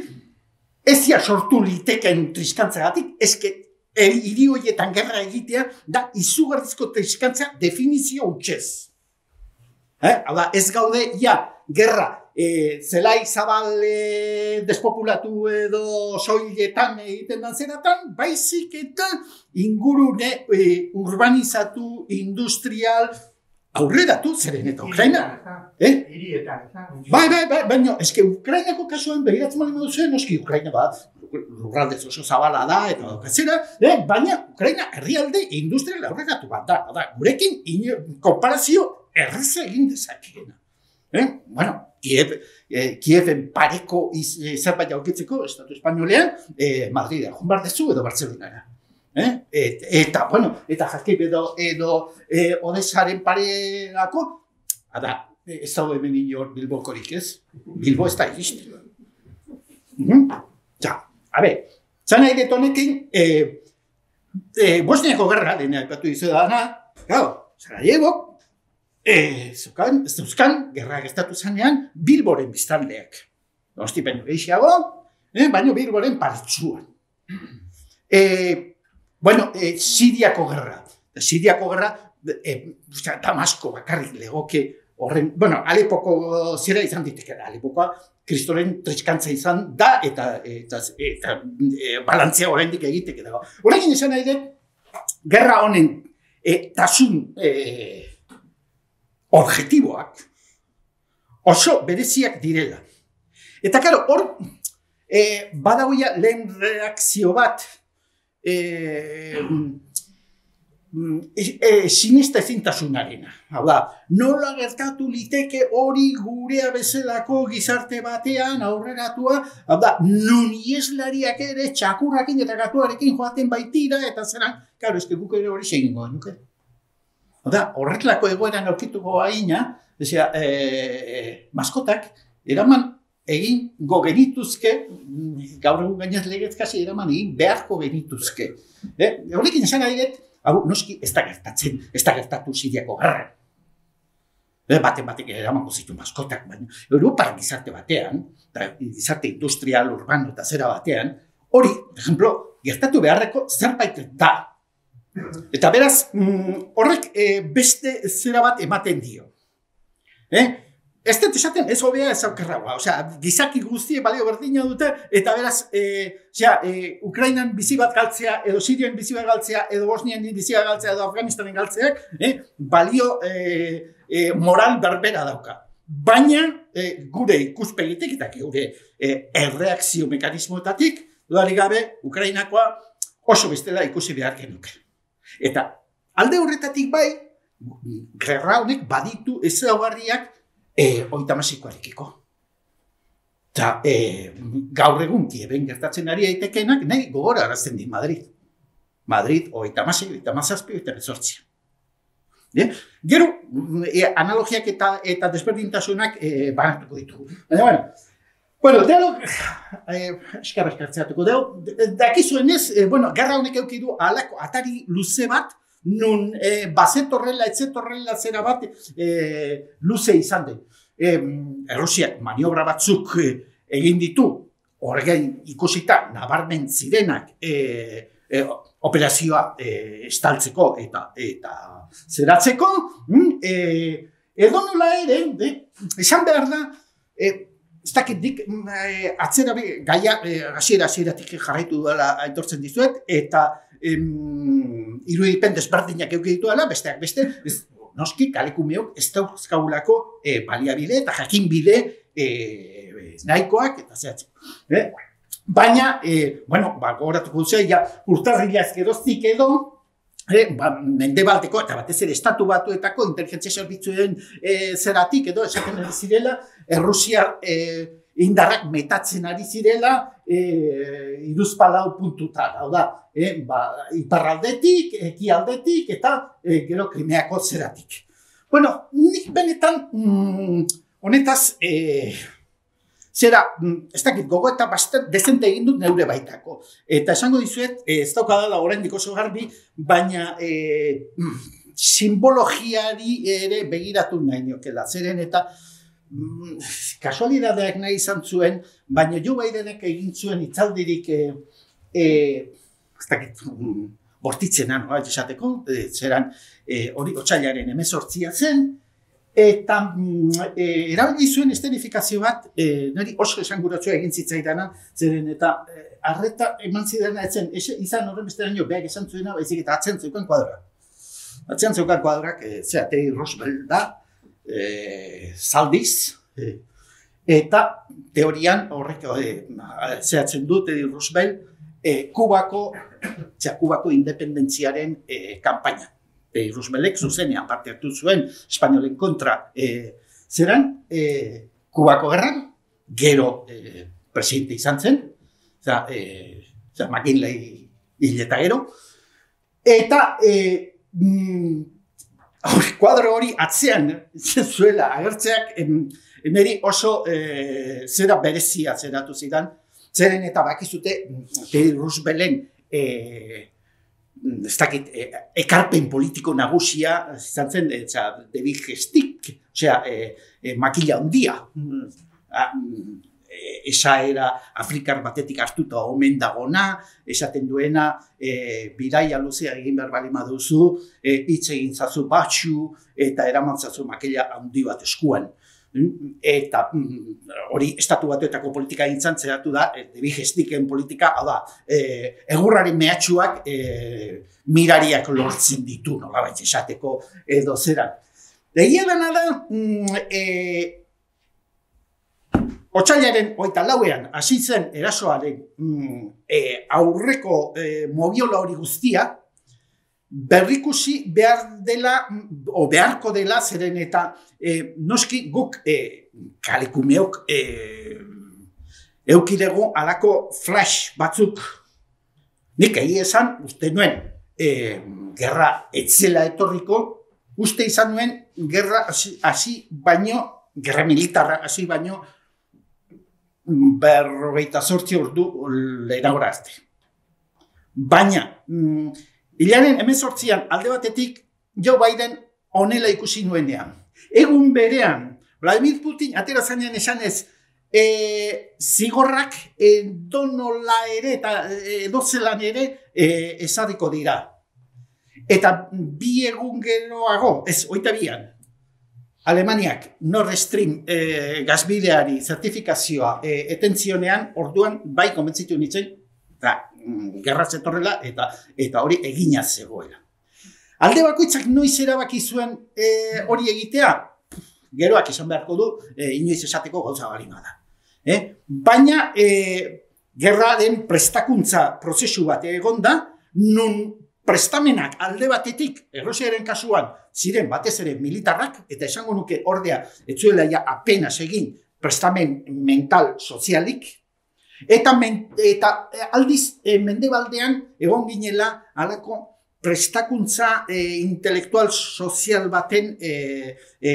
C: ezia sortu liteken triskantzagatik, eske hiri horietan gerra egitea da izugarrizko triskantza definizio hutsez. Eh? Hau da, ez gaude, ja, gerra, e, zelai zabal e, despopulatu edo soiletan egiten dan zeratan, baizik eta ingurune e, urbanizatu, industrial, aurreratu zeren eta Ukraina. Eh?
D: Hirietan.
C: Bai, bai, bai, baina, eske Ukrainako kasuan begiratzen bali moduzuen, noski Ukraina bat, lurraldez oso zabala da, eta dokatzera, eh? Baina Ukraina herrialde industrial aurreratu bat da, da gurekin konparazio erreza egin dezakeena. Eh? Bueno, Kiev, eh, Kieven pareko iz, eh, zerbait aurkitzeko, Estatu Espainolean, eh, Madrid, joan behar dezu edo Barcelonara. Eh? Et, eta, bueno, eta jakip edo, edo eh, Odesaren pareako, ada, ez daude hemen inor Bilbokorik ez? Bilbo ez da iristen. Mm-hmm. Ja, a ber, zan nahi detonekin, eh, eh, Bosniako gerra, dena epatu izu dana, gau, Sarajevo, Eh, zeukan, zeuzkan, gerra gestatu zanean, Bilboren biztanleak. Dostipen gehiago, eh, baina Bilboren paritsuan. Eh, bueno, eh, Siriako gerra. Siriako gerra, eh, Damasko bakarrik legoke horren, bueno, Alepoko zera izan diteke da, Alepokoa kristoren triskantza izan da, eta, eta, eta e, balantzea oraindik egiteke dago. Horrekin izan nahi dut, gerra honen e, tasun e, objektiboak oso bereziak direla. Eta karo, hor e, badagoia lehen reakzio bat e, e, sinista ezintasunarena. Hau da, nola gertatu liteke hori gurea bezalako gizarte batean aurreratua, hau da, nun ieslariak ere txakurrakin eta gatuarekin joaten baitira, eta zeran, karo, ez guk ere hori segingo, nuke? Hau da, horretlako egoeran aurkituko haina, ezea, e, e, maskotak, eraman egin go genituzke, gaur egun gainaz legez kasi eraman egin beharko genituzke. Eh? Horrekin esan nahi dut, hau, noski, ez da gertatzen, ez da gertatu Siriako gerra. Eh, baten batek eramango zitu maskotak, baina Europar gizarte batean, gizarte industrial, urbano eta zera batean, hori, por ejemplo, gertatu beharreko zerbait da. Eta beraz, horrek mm, beste zera bat ematen dio. Eh? Ez dut esaten ez hobea ez aukerragoa. Osea, gizaki guztie balio berdina dute, eta beraz, eh, ja, eh, Ukrainan bizi bat galtzea, edo Sirian bizi bat galtzea, edo Bosnian bizi bat galtzea, edo Afganistanen galtzeak, eh, balio eh, eh, moral berbera dauka. Baina, eh, gure ikuspegitik eta gure eh, erreakzio mekanismoetatik, dudarik gabe, Ukrainakoa oso bestela ikusi behar genuke. Eta alde horretatik bai, gerra honek baditu ezaugarriak e, oitamasikoarekiko. Eta e, gaur egun Kieven gertatzen ari aitekenak nahi gogora arazten di Madrid. Madrid oitamasik, oitamazazpi, oitamazortzia. E? Gero, e, analogiak eta, eta desberdintasunak e, banatuko ditugu. Baina, bueno, Bueno, dialog, eh, eskarra eskartzeatuko dugu, dakizuen ez, eh, bueno, gerra honek euki du alako atari luze bat, nun eh, bazetorrela, etzetorrela zera bat eh, luze izan den. Eh, Errusiak maniobra batzuk eh, egin ditu, horregain ikusita, nabarmen zirenak eh, eh, operazioa eh, estaltzeko eta, eta zeratzeko, mm, eh, edo nola ere, eh, esan behar da, eh, ez dakit dik eh, atzera gaia hasiera eh, hasieratik jarraitu duela aitortzen dizuet, eta em, irudipen desberdinak eduki dituela, besteak beste, ez, noski kalekumeok ez dauzkagulako eh, baliabide eta jakinbide eh, nahikoak eta zehatzen. Eh? Baina, eh, bueno, ba, gogoratuko duzea, ja, urtarrilaz geroztik edo, eh, ba, mendebaldeko eta batez ere estatu batuetako inteligentzia zerbitzuen eh, zeratik edo esaten ari zirela, Errusiar eh, indarrak metatzen ari zirela eh, iruzpalau puntutan, hau da, eh, ba, iparraldetik, ekialdetik eta eh, gero Krimeako zeratik. Bueno, nik benetan mm, honetaz, eh, zera, ez dakit, gogo eta bastet dezente egin dut neure baitako. Eta esango dizuet, ez daukadala oraindik oso garbi, baina e, simbologiari ere begiratu nahi niokela. Zeren eta mm, kasualidadeak nahi izan zuen, baina Joe Bidenek egin zuen itzaldirik e, e, ez dakit, mm, bortitzena, no, esateko, e, zeran hori e, otsailaren hemezortzia zen, eta e, erabili zuen esterifikazio bat, e, niri oso esanguratsua egin zitzaidana, zeren eta e, arreta eman zidana etzen, izan horren besteraino behar esan zuena, baizik eta atzen zeukan kuadra. Atzen zeukan kuadrak, e, zera, Teddy Roosevelt da, e, zaldiz, e, eta teorian horrek e, zehatzen du Teddy Roosevelt, e, Kubako, zera, Kubako independentziaren e, kampaina. E, Rooseveltek zuzenean parte hartu zuen espainolen kontra e, zeran, e, Kubako gerran, gero e, presidente izan zen, zera, e, zera McKinley hil eta gero, eta e, mm, kuadro hori atzean zuela agertzeak em, niri oso e, zera berezia zeratu zidan, zeren eta bakizute Teddy Roosevelten e, ez dakit, e, ekarpen politiko nagusia, izan zen, e, David Gestik, osea, e, e, makila handia. E, esa era Afrikar batetik hartuta omen dagona, esaten duena, e, bidaia luzea egin behar bali maduzu, e, hitz egin zazu batxu, eta eraman zazu makila handi bat eskuan. Eta hori estatu batuetako politika gintzan zeratu da, David Gestiken politika, hau da, e, egurraren mehatxuak e, mirariak lortzen ditu, nolabait esateko edo zeran. Egia dena da, e, otsailaren hogeita lauean hasi zen erasoaren e, aurreko e, moviola hori guztia, berrikusi behar dela, o beharko dela, zeren eta e, noski guk e, kalekumeok e, eukidego alako flash batzuk. Nik egi esan, uste nuen, e, gerra etzela etorriko, uste izan nuen, gerra hasi baino, gerra militarra hasi baino, berrogeita zortzi ordu lehenagora azte. Baina, mm, hilaren hemezortzian alde batetik Joe Biden honela ikusi nuenean. Egun berean, Vladimir Putin atera zanean esanez, e, zigorrak edonola ere eta edozelan ere e, ezarriko dira. Eta bi egun geroago, ez, hogeita bian, Alemaniak Nord Stream e, gazbideari zertifikazioa e, etentzionean, orduan bai konbentzitu nintzen, eta gerra zetorrela eta eta hori egina zegoela. Alde bakoitzak noiz erabaki zuen e, hori egitea, geroak esan beharko du, e, inoiz esateko gauza barima da. E? Baina e, gerraren prestakuntza prozesu bat egon da, nun prestamenak alde batetik, Errusiaren kasuan, ziren batez ere militarrak, eta esango nuke ordea, ez zuela ja apenas egin prestamen mental sozialik, Eta, men, eta aldiz e, mendebaldean egon ginela halako prestakuntza e, intelektual sozial baten e, e,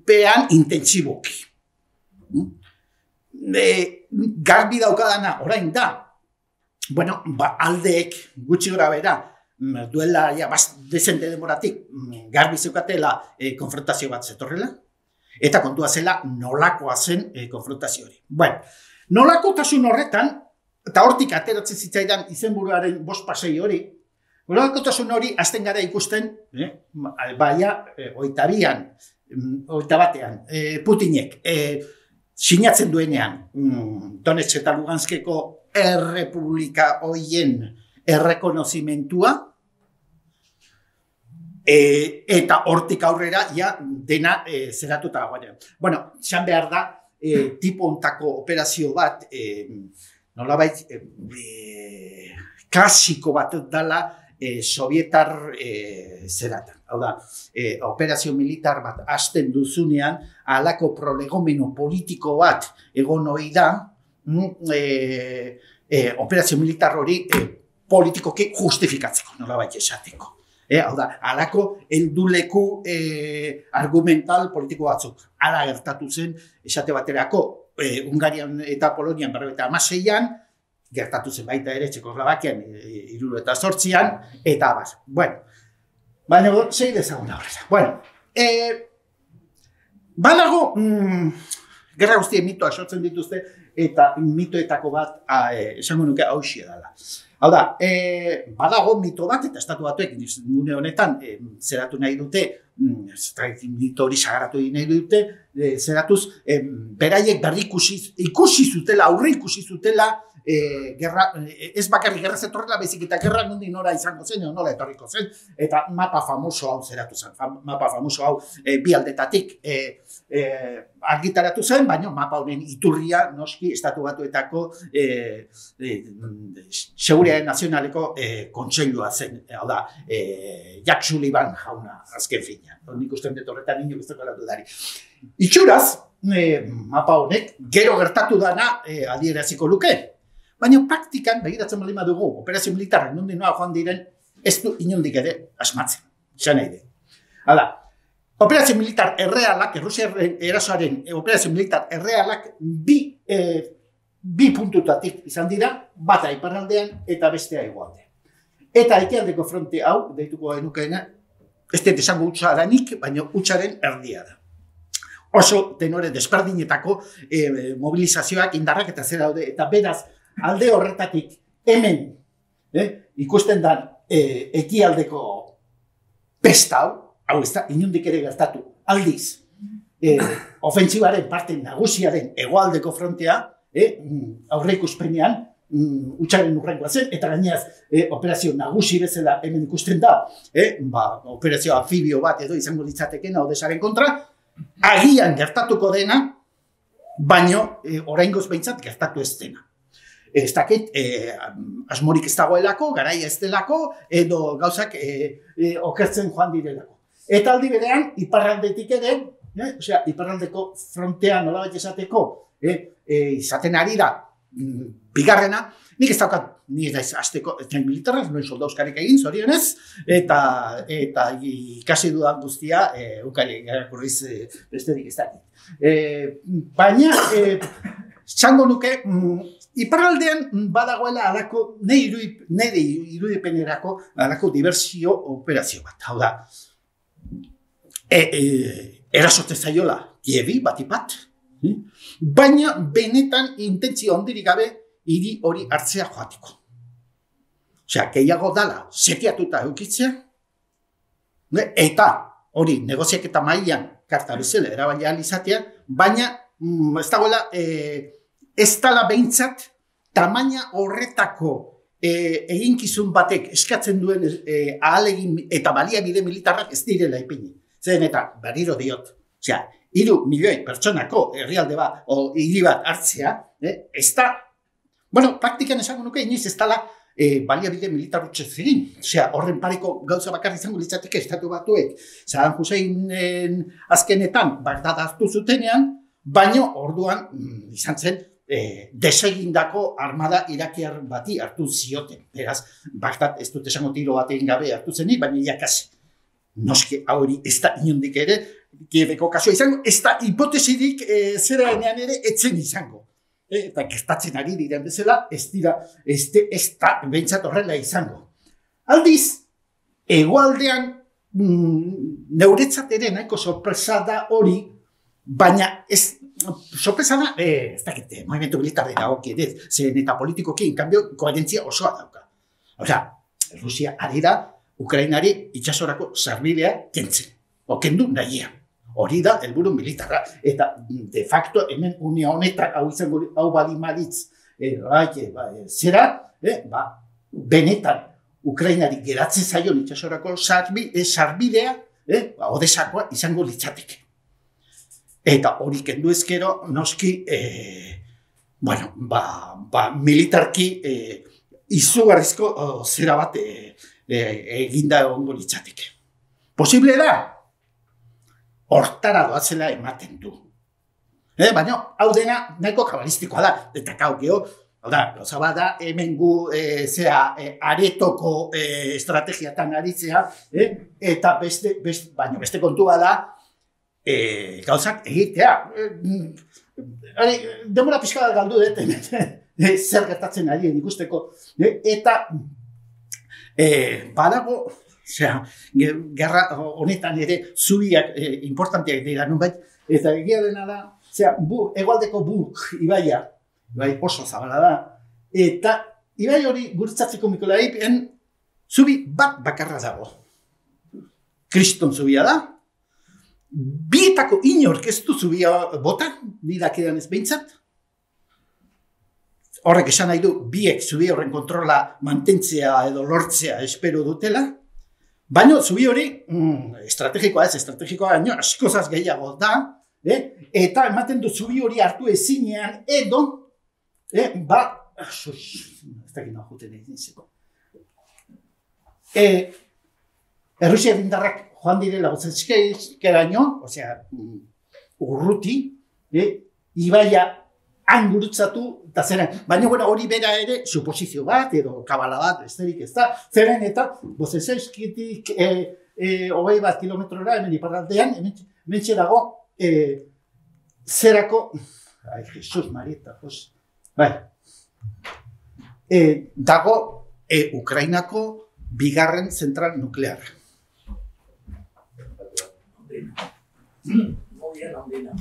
C: pean intentsiboki. E, garbi daukadana orain da, bueno, ba, aldeek gutxi gora bera, duela ja, bast, dezente demoratik garbi zeukatela e, konfrontazio bat zetorrela, eta kontua zela nolakoa zen e, konfrontazio hori. Bueno, nolakotasun horretan, eta hortik ateratzen zitzaidan izenburuaren bost pasei hori, nolakotasun hori azten gara ikusten, eh, baina, eh, oita bian, oita batean, eh, Putinek, eh, sinatzen duenean, mm, Donetsk eta Luganskeko errepublika hoien errekonozimentua, e, eta hortik aurrera ja dena e, zeratuta dagoenean. Bueno, txan behar da, e, tipo ontako operazio bat, e, nolabait, e, e, klasiko bat dala, E, sovietar e, zeratan. Hau da, e, operazio militar bat hasten duzunean, halako prolegomeno politiko bat egon ohi da, e, e, operazio militar hori e, politikoki justifikatzeko, nolabait esateko. E, hau da, halako helduleku e, argumental politiko batzuk. Hala gertatu zen, esate baterako, e, Hungarian eta Polonian berrogeita hamaseian, gertatu zen baita ere Txekoslovakian hiru eta zortzian, eta abar. Bueno, baina sei dezagun aurrera. Bueno, e, badago, mm, gerra guztien mitoa sortzen dituzte, eta mitoetako bat, a, e, esango nuke hauxia dela. Hau da, e, badago mito bat, eta estatu batuek, nune honetan, e, zeratu nahi dute, mm, mito hori sagaratu nahi dute, e, zeratuz, e, beraiek berri ikusi, ikusi zutela, aurre ikusi zutela, E, gerra, ez bakarrik gerra zetorrela, bezik eta gerra nondi nora izango zen, nola etorriko zen, eta mapa famoso hau zeratu zen, mapa famoso hau e, bi aldetatik e, e, argitaratu zen, baina mapa honen iturria noski estatu batuetako e, e, Seguridade Nazionaleko e, kontseilua zen, hau da, e, Jack Sullivan jauna azken fina, nik usten dut horretan inok ez dagoela dudari. Itxuraz, e, mapa honek gero gertatu dana e, adieraziko luke. Baina praktikan, begiratzen baldin badugu, operazio militarrak nondik noa joan diren, ez du inondik ere asmatzen. Esan nahi de. Hala, operazio militar errealak, Errusiaren erasoaren operazio militar errealak bi, e, bi puntutatik izan dira, bata iparraldean eta bestea hegoaldean. Eta ekialdeko fronte hau, deituko genukeena, ez dut esango hutsaranik, baina hutsaren erdia da. Oso tenore desberdinetako e, mobilizazioak indarrak eta zer daude, eta beraz, alde horretatik hemen eh, ikusten da eh, ekialdeko pesta hau, hau ez da, inundik ere gertatu, aldiz, eh, ofentsibaren parte nagusiaren hegoaldeko frontea, eh, aurre ikuspenean, mm, hutsaren urrengoa zen, eta gaineaz eh, operazio nagusi bezala hemen ikusten da, eh, ba, operazio anfibio bat edo izango ditzatekena Odesaren kontra, agian gertatuko dena, baino eh, oraingoz behintzat gertatu ez dena. Ez dakit, eh, asmorik ez dagoelako, garaia ez delako, edo gauzak eh, eh, okertzen joan direlako. Eta aldi berean, iparraldetik ere, eh, osea, iparraldeko frontea nolabait esateko, eh, eh, izaten ari da, mm, bigarrena, nik ez daukat, ni ez azteko tren militarrak, noin soldauzkarik egin, zorionez, eta, eta ikasi dudan guztia, eh, ukari, garakurriz eh, besterik ez dakit. Eh, baina, eh, txango nuke, mm, iparraldean badagoela alako, nire irudipenerako alako diversio operazio bat. Hau da, e, e, erasote zaiola Kievi batipat, eh? Baina benetan intentzio ondirik gabe hiri hori hartzea joateko. Osea, gehiago dala setiatuta eukitzea, eta hori negoziak eta mailan karta bezala erabaila izatea, baina mm, ez dagoela e, ez dala behintzat, tamaina horretako e, eginkizun batek eskatzen duen e, ahalegin eta baliabide militarrak ez direla ipini. Zen eta berriro diot, osea, hiru milioi pertsonako herrialde bat, o hiri bat hartzea, eh, ez da, bueno, praktikan esango nuke, inoiz ez dala e, baliabide militar utxe zirin. Osea, horren pareko gauza bakarri izango litzateke estatu batuek, Saddam Husseinen azkenetan Bagdad hartu zutenean, baino orduan mm, izan zen, E, desegindako armada irakiar bati hartu zioten. Beraz, Bagdad ez dut esango tiro bat egin gabe hartu zenik, baina iakasi. Noski hori ez da inondik ere, Kieveko kasua izango, ez da hipotesirik e, zera enean ere etzen izango. E, eta gertatzen ari diren bezala, ez dira, ez, de, ez da behintzat horrela izango. Aldiz, hegoaldean mm, neuretzat ere nahiko sorpresa da hori, baina ez sorpresa da, eh, ez dakit, movimiento militar dira hoki, zen eta politikoki, en cambio, koherentzia osoa dauka. Osea, Rusia ari da, Ukrainari itxasorako sarbidea kentzen, o kendu nahian. Hori da, helburu militarra. Eta de facto, hemen unia honetan, hau izango, hau bali maritz, e, ba, e, zera, e, ba, benetan, Ukrainari geratzen zaion itxasorako sarbi, e, sarbidea, e, ba, odesakoa izango litzateke. Eta hori kendu ezkero, noski, e, bueno, ba, ba, militarki e, izugarrizko o, zera bat e, e, eginda egongo litzateke. Posible da? Hortara doatzela ematen du. Eh, baina, hau dena nahiko kabalistikoa da. Eta kau, geho, da, gauza bat da, hemen gu, e, zera, e, aretoko e, estrategiatan aritzea, eh? Eta beste, beste, baina beste kontua da, e, gauzak egitea. E, demora pixka da galdu dut, e, zer gertatzen ari ikusteko. E, eta, e, badago, osea, gerra honetan ere zubiak eh, importanteak dira nunbait, eta egia dena da, osea, bu, egualdeko Buk ibaia, ibai oso zabala da, eta ibai hori guretzatzeko Mikolaipen zubi bat bakarra dago. Kriston zubia da, bietako inork ez du zubia bota, nidakidan ez behintzat, horrek esan nahi du, biek zubi horren kontrola mantentzea edo lortzea espero dutela, baina zubi hori, mm, estrategikoa ez, estrategikoa baino, askozaz gehiago da, eh? Eta ematen du zubi hori hartu ezinean edo, eh, ba, ez dakit nahi juten egin zeko. Eh, Errusia dindarrak joan direla gozatzkeraino, osea, urruti, eh, ibaia han gurutzatu, eta zeren, baina bueno, hori bera ere, suposizio bat, edo kabala bat, besterik ez da, zeren eta, Bozezeuskitik, e, e, hogei bat kilometrora, hemen iparraldean, hemen dago, e, zerako, ai, Jesus, Marieta, jos, bai, e, dago, e, Ukrainako bigarren zentral nuklear.
B: Muy bien, Andina.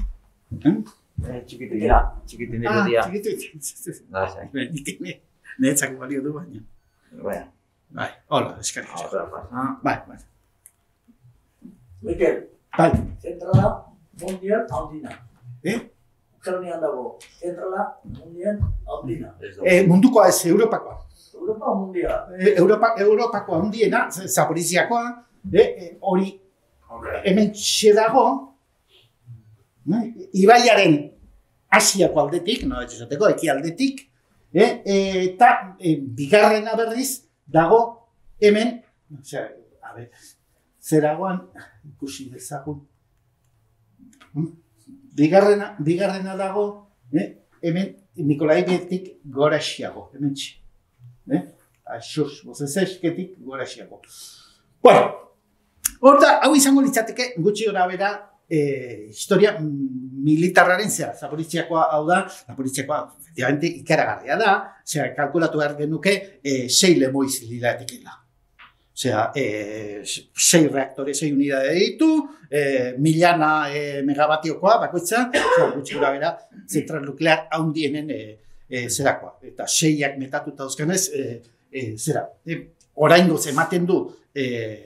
C: ¿Eh?
A: Eh, txikitina, txikitina irudia.
C: Ah, txikitina.
A: Da, zai.
C: Netzak balio du baina.
A: Baina.
C: Bai, hola, eskarrik asko.
A: Ahora pasa.
C: Bai, bai.
B: Mikel,
C: Bai,
B: zentrala mundial Andina.
C: eh?
B: Ukrainian dago, zentrala mundial Andina.
A: Ez du.
C: Eh, mundukoa ez, Europakoa.
B: Europa mundial.
C: Eh, Europa, Europakoa handiena, Zaporiziakoa, eh, eh, hori hemen txe dago, eh, ibaiaren Asiako aldetik, no ez esateko, eki aldetik, eh, eta eh, bigarrena berriz dago hemen, osea, a ber, zeragoan, ikusi dezagun, bigarrena, bigarrena dago, eh, hemen Mikolaibetik goraxiago, hemen txe. Eh? Aixos, Bozezeuskitik goraxiago. Bueno, hor da, hau izango litzateke gutxi gora bera eh, historia militarraren zera. Zaporiziakoa hau da, Zaporiziakoa efectivamente ikaragarria da, zera, kalkulatu behar genuke eh, sei lemoiz liratekela. Osea, eh, sei reaktore, sei unidade ditu, eh, milana eh, megabatiokoa bakoitza, zera, gutxi gora bera, zentral nuklear haundienen eh, E, zerakoa, eta seiak metatuta dauzkanez, e, e, zera, e, oraingoz ematen du e,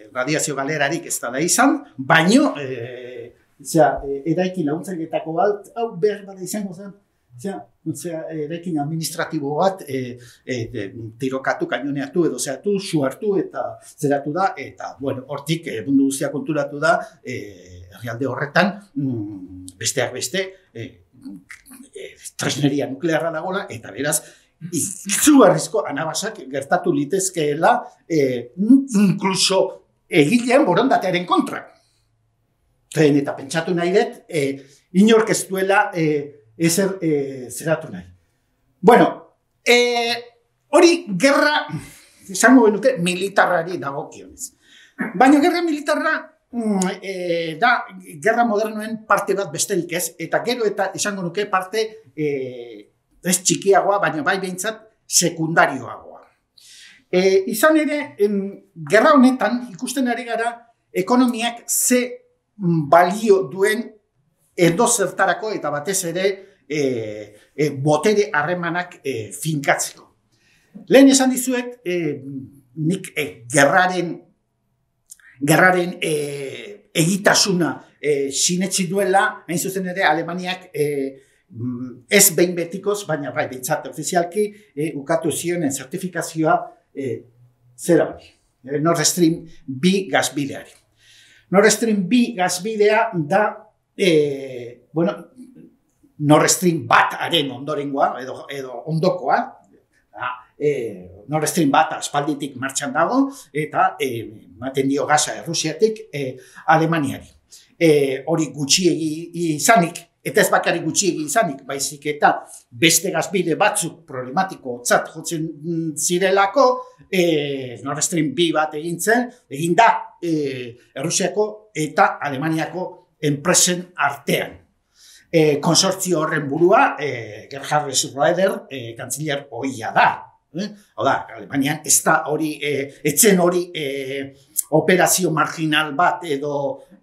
C: radiazio galerarik ez da izan, baino, e, zera, e, eraikin laguntzailetako bat, hau behar bada izango zen, zera, zera, eraikin administratibo bat, e, e, tirokatu, kainoneatu edo zeratu, suartu eta zeratu da, eta, bueno, hortik e, mundu guztia konturatu da, e, herrialde horretan, mm, besteak beste, e, tresneria nuklearra dagoela, eta beraz, izugarrizko anabasak gertatu litezkeela, eh, inkluso egilean borondatearen kontra. Zen, eta pentsatu nahi dut, eh, inork ez duela eh, ezer eh, zeratu nahi. Bueno, eh, hori gerra, esango benuke, militarrari dagokionez. Baina gerra militarra, E, da, gerra modernoen parte bat besterik ez, eta gero eta izango nuke parte e, ez txikiagoa, baina bai behintzat sekundarioagoa. E, izan ere, em, gerra honetan ikusten ari gara ekonomiak ze balio duen edo zertarako eta batez ere e, e, botere harremanak e, finkatzeko. Lehen esan dizuet, e, nik e, gerraren Gerraren e, egitasuna e, sinetsi duela, hain zuzen ere, Alemaniak e, ez behin betikoz, baina bai, bintzat ofizialki, e, ukatu zionen zertifikazioa e, zera hori, e, Nord Stream bi gazbideari. Nord Stream bi gazbidea da, e, bueno, Nord Stream bat haren ondorengoa, edo, edo ondokoa, da, e, Nord Stream bat aspalditik martxan dago, eta e, maten dio gaza Errusiatik e, Alemaniari. E, hori gutxiegi izanik, eta ez bakarrik gutxiegi izanik, baizik eta beste gazbide batzuk problematiko tzat jotzen zirelako, e, Nord Stream bi bat egin zen, egin da e, Errusiako eta Alemaniako enpresen artean. E, konsortzio horren burua, e, Gerhard Schröder, e, kantziller ohia da. Eh? Hau da, Alemanian ez da hori, e, etzen hori e, operazio marginal bat edo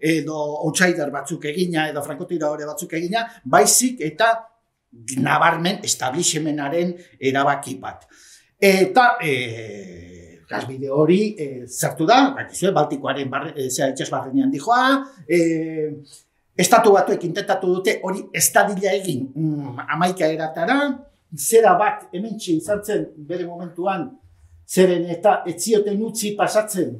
C: edo outsider batzuk egina, edo frankotiradore batzuk egina, baizik eta nabarmen establishmentaren erabaki bat. Eta e, gazbide hori e, zertu da, bakizue, Baltikoaren barre, e, itxas barrenean dijoa, e, estatu batuek intentatu dute hori estadila egin mm, amaika eratara, zera bat hementxe izan zen bere momentuan, zeren eta etzioten utzi pasatzen,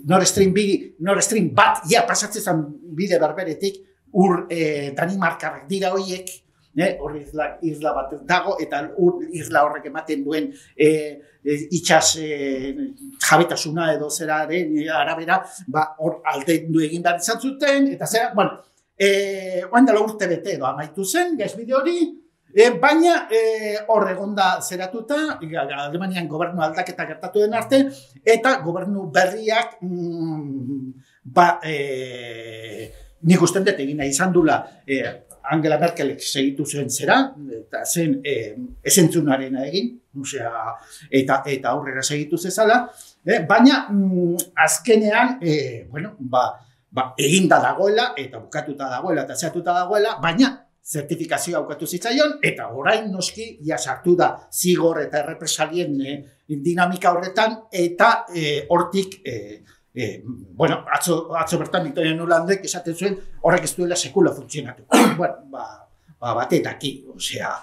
C: Nord Stream bi, Nord Stream bat, ja, pasatzen zen bide berberetik, ur e, Danimarkarrak dira horiek, eh, hor isla, isla bat dago, eta ur isla horrek ematen duen e, e, itxas e, jabetasuna edo zeraren arabera, ba, hor aldendu egin behar izan zuten, eta zera, bueno, e, oandala urte bete edo amaitu zen, gazbide hori, E, baina e, hor egonda zeratuta, Alemanian gobernu aldaketa gertatu den arte, eta gobernu berriak, mm, ba, e, nik usten dut egina izan dula, e, Angela Merkelek segitu zuen zera, eta zen e, esentzunarena egin, osea, eta, eta aurrera segitu zezala, e, baina mm, azkenean, e, bueno, ba, ba, eginda dagoela, eta bukatuta dagoela, eta zeratuta dagoela, baina, zertifikazioa aukatu zitzaion, eta orain noski ja sartu da zigor eta errepresalien e, dinamika horretan, eta e, hortik, e, e, bueno, atzo, atzo bertan Victoria Nulandek esaten zuen horrek ez duela sekula funtzionatu. Bueno, ba, ba batetaki, osea,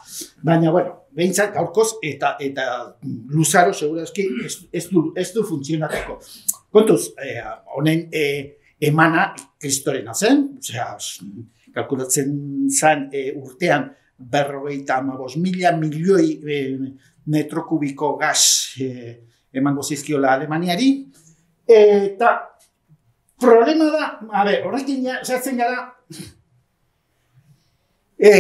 C: baina, bueno, behintzat gaurkoz eta eta luzaro segurazki ez, ez, du, ez du funtzionatuko. Kontuz, honen e, e, emana kristorena zen, osea, kalkulatzen zen e, urtean berrogeita hamabost mila milioi e, metro kubiko gaz e, emango zizkiola Alemaniari. Eta problema da, a ber, horrekin ja, zertzen gara, e,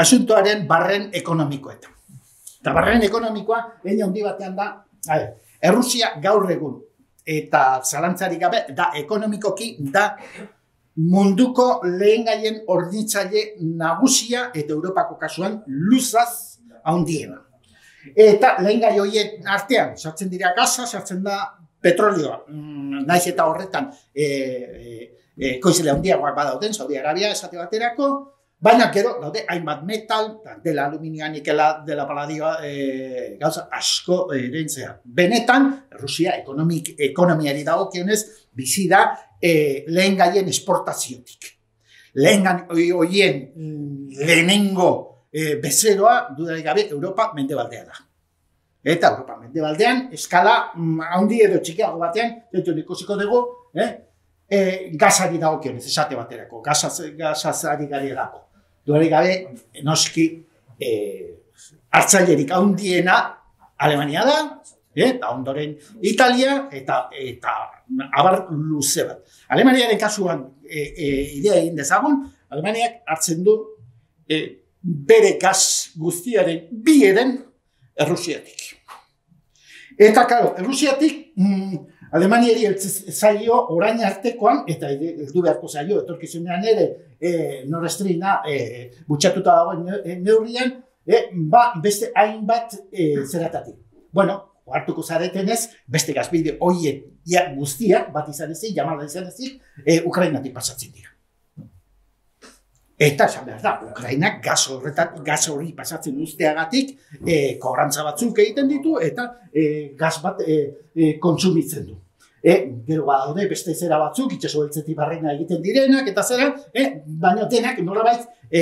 C: asuntoaren barren ekonomikoetan. Eta barren ekonomikoa, egin handi batean da, a ber, Errusia gaur egun, eta zalantzarik gabe, da ekonomikoki, da munduko lehengaien hornitzaile nagusia eta Europako kasuan luzaz handiena. Eta lehengai horien artean, sartzen dira gaza, sartzen da petrolioa, naiz eta horretan e, e, e, koizle handiagoak badauden, Saudi Arabia esate baterako, baina gero daude hainbat metal, dela aluminioa, nikela, dela paladioa, e, gauza asko erentzea. Benetan, Rusia ekonomik, ekonomiari dagokionez bizi da e, lehen gaien esportaziotik. Lehen horien lehenengo e, bezeroa, dudarik gabe, Europa mendebaldea da. Eta Europa mendebaldean, eskala handi edo txikiago batean, dut ikusiko dugu, eh? E, gazari dagokionez, esate baterako, gazazari garelako. Dudarik gabe, noski, e, hartzailerik handiena Alemania da, eta ondoren Italia, eta, eta abar luze bat. Alemaniaren kasuan e, e, idea egin dezagun, Alemaniak hartzen du e, bere gaz guztiaren bi eren Errusiatik. Eta, karo, Errusiatik mm, Alemaniari zaio orain artekoan, eta heldu beharko zaio, etorkizunean ere e, Nord Streama e, butxatuta dagoen neurrian, e, ba, beste hainbat e, zeratatik. Bueno, hartuko zaretenez, beste gazbide horien ja, guztiak, bat izan ezik, jamala izan ezik, e, Ukrainatik pasatzen dira. Eta, esan behar da, Ukrainak gaz horretak, gaz hori pasatzen usteagatik, e, kobrantza batzuk egiten ditu, eta e, gaz bat e, e, kontsumitzen du. E, gero badaude beste zera batzuk, itxaso beltzetik barrena egiten direnak, eta zera, e, baina denak nolabait e,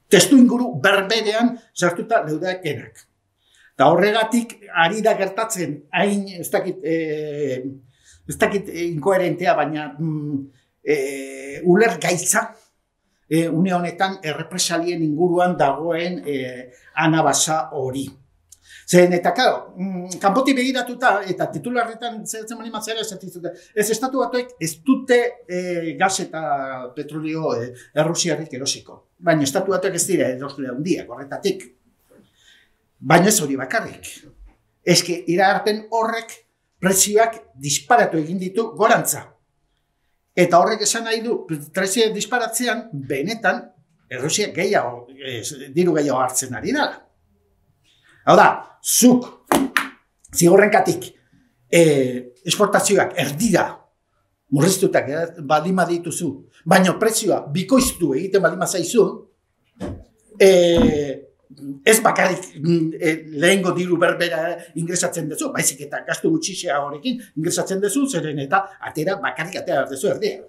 C: testu inguru berberean sartuta leudekenak. Eta horregatik, ari da gertatzen, hain, ez dakit, e, ez dakit inkoherentea, baina mm, e, uler gaitza, e, une honetan errepresalien inguruan dagoen e, anabasa hori. Zen, eta, karo, mm, kanpoti begiratuta, eta titularretan zeratzen mani matzera esatizute, ez estatu batuek ez dute e, gas eta petrolio e, errusiarrik erosiko. Baina estatu batuek ez dira erosle handiak horretatik. Baina ez hori bakarrik. Eske iragarpen horrek prezioak disparatu egin ditu gorantza. Eta horrek esan nahi du, prezioak disparatzean, benetan, Errusiak gehiago, diru gehiago hartzen ari dela. Hau da, zuk, zigorrenkatik, eh, esportazioak erdira murriztutak baldin badituzu, baina prezioa bikoiztu egiten baldin bazaizu, eh, ez bakarrik eh, lehengo diru berbera ingresatzen duzu, baizik eta gastu gutxixea horrekin ingresatzen duzu, zeren eta atera bakarrik atera duzu erdia.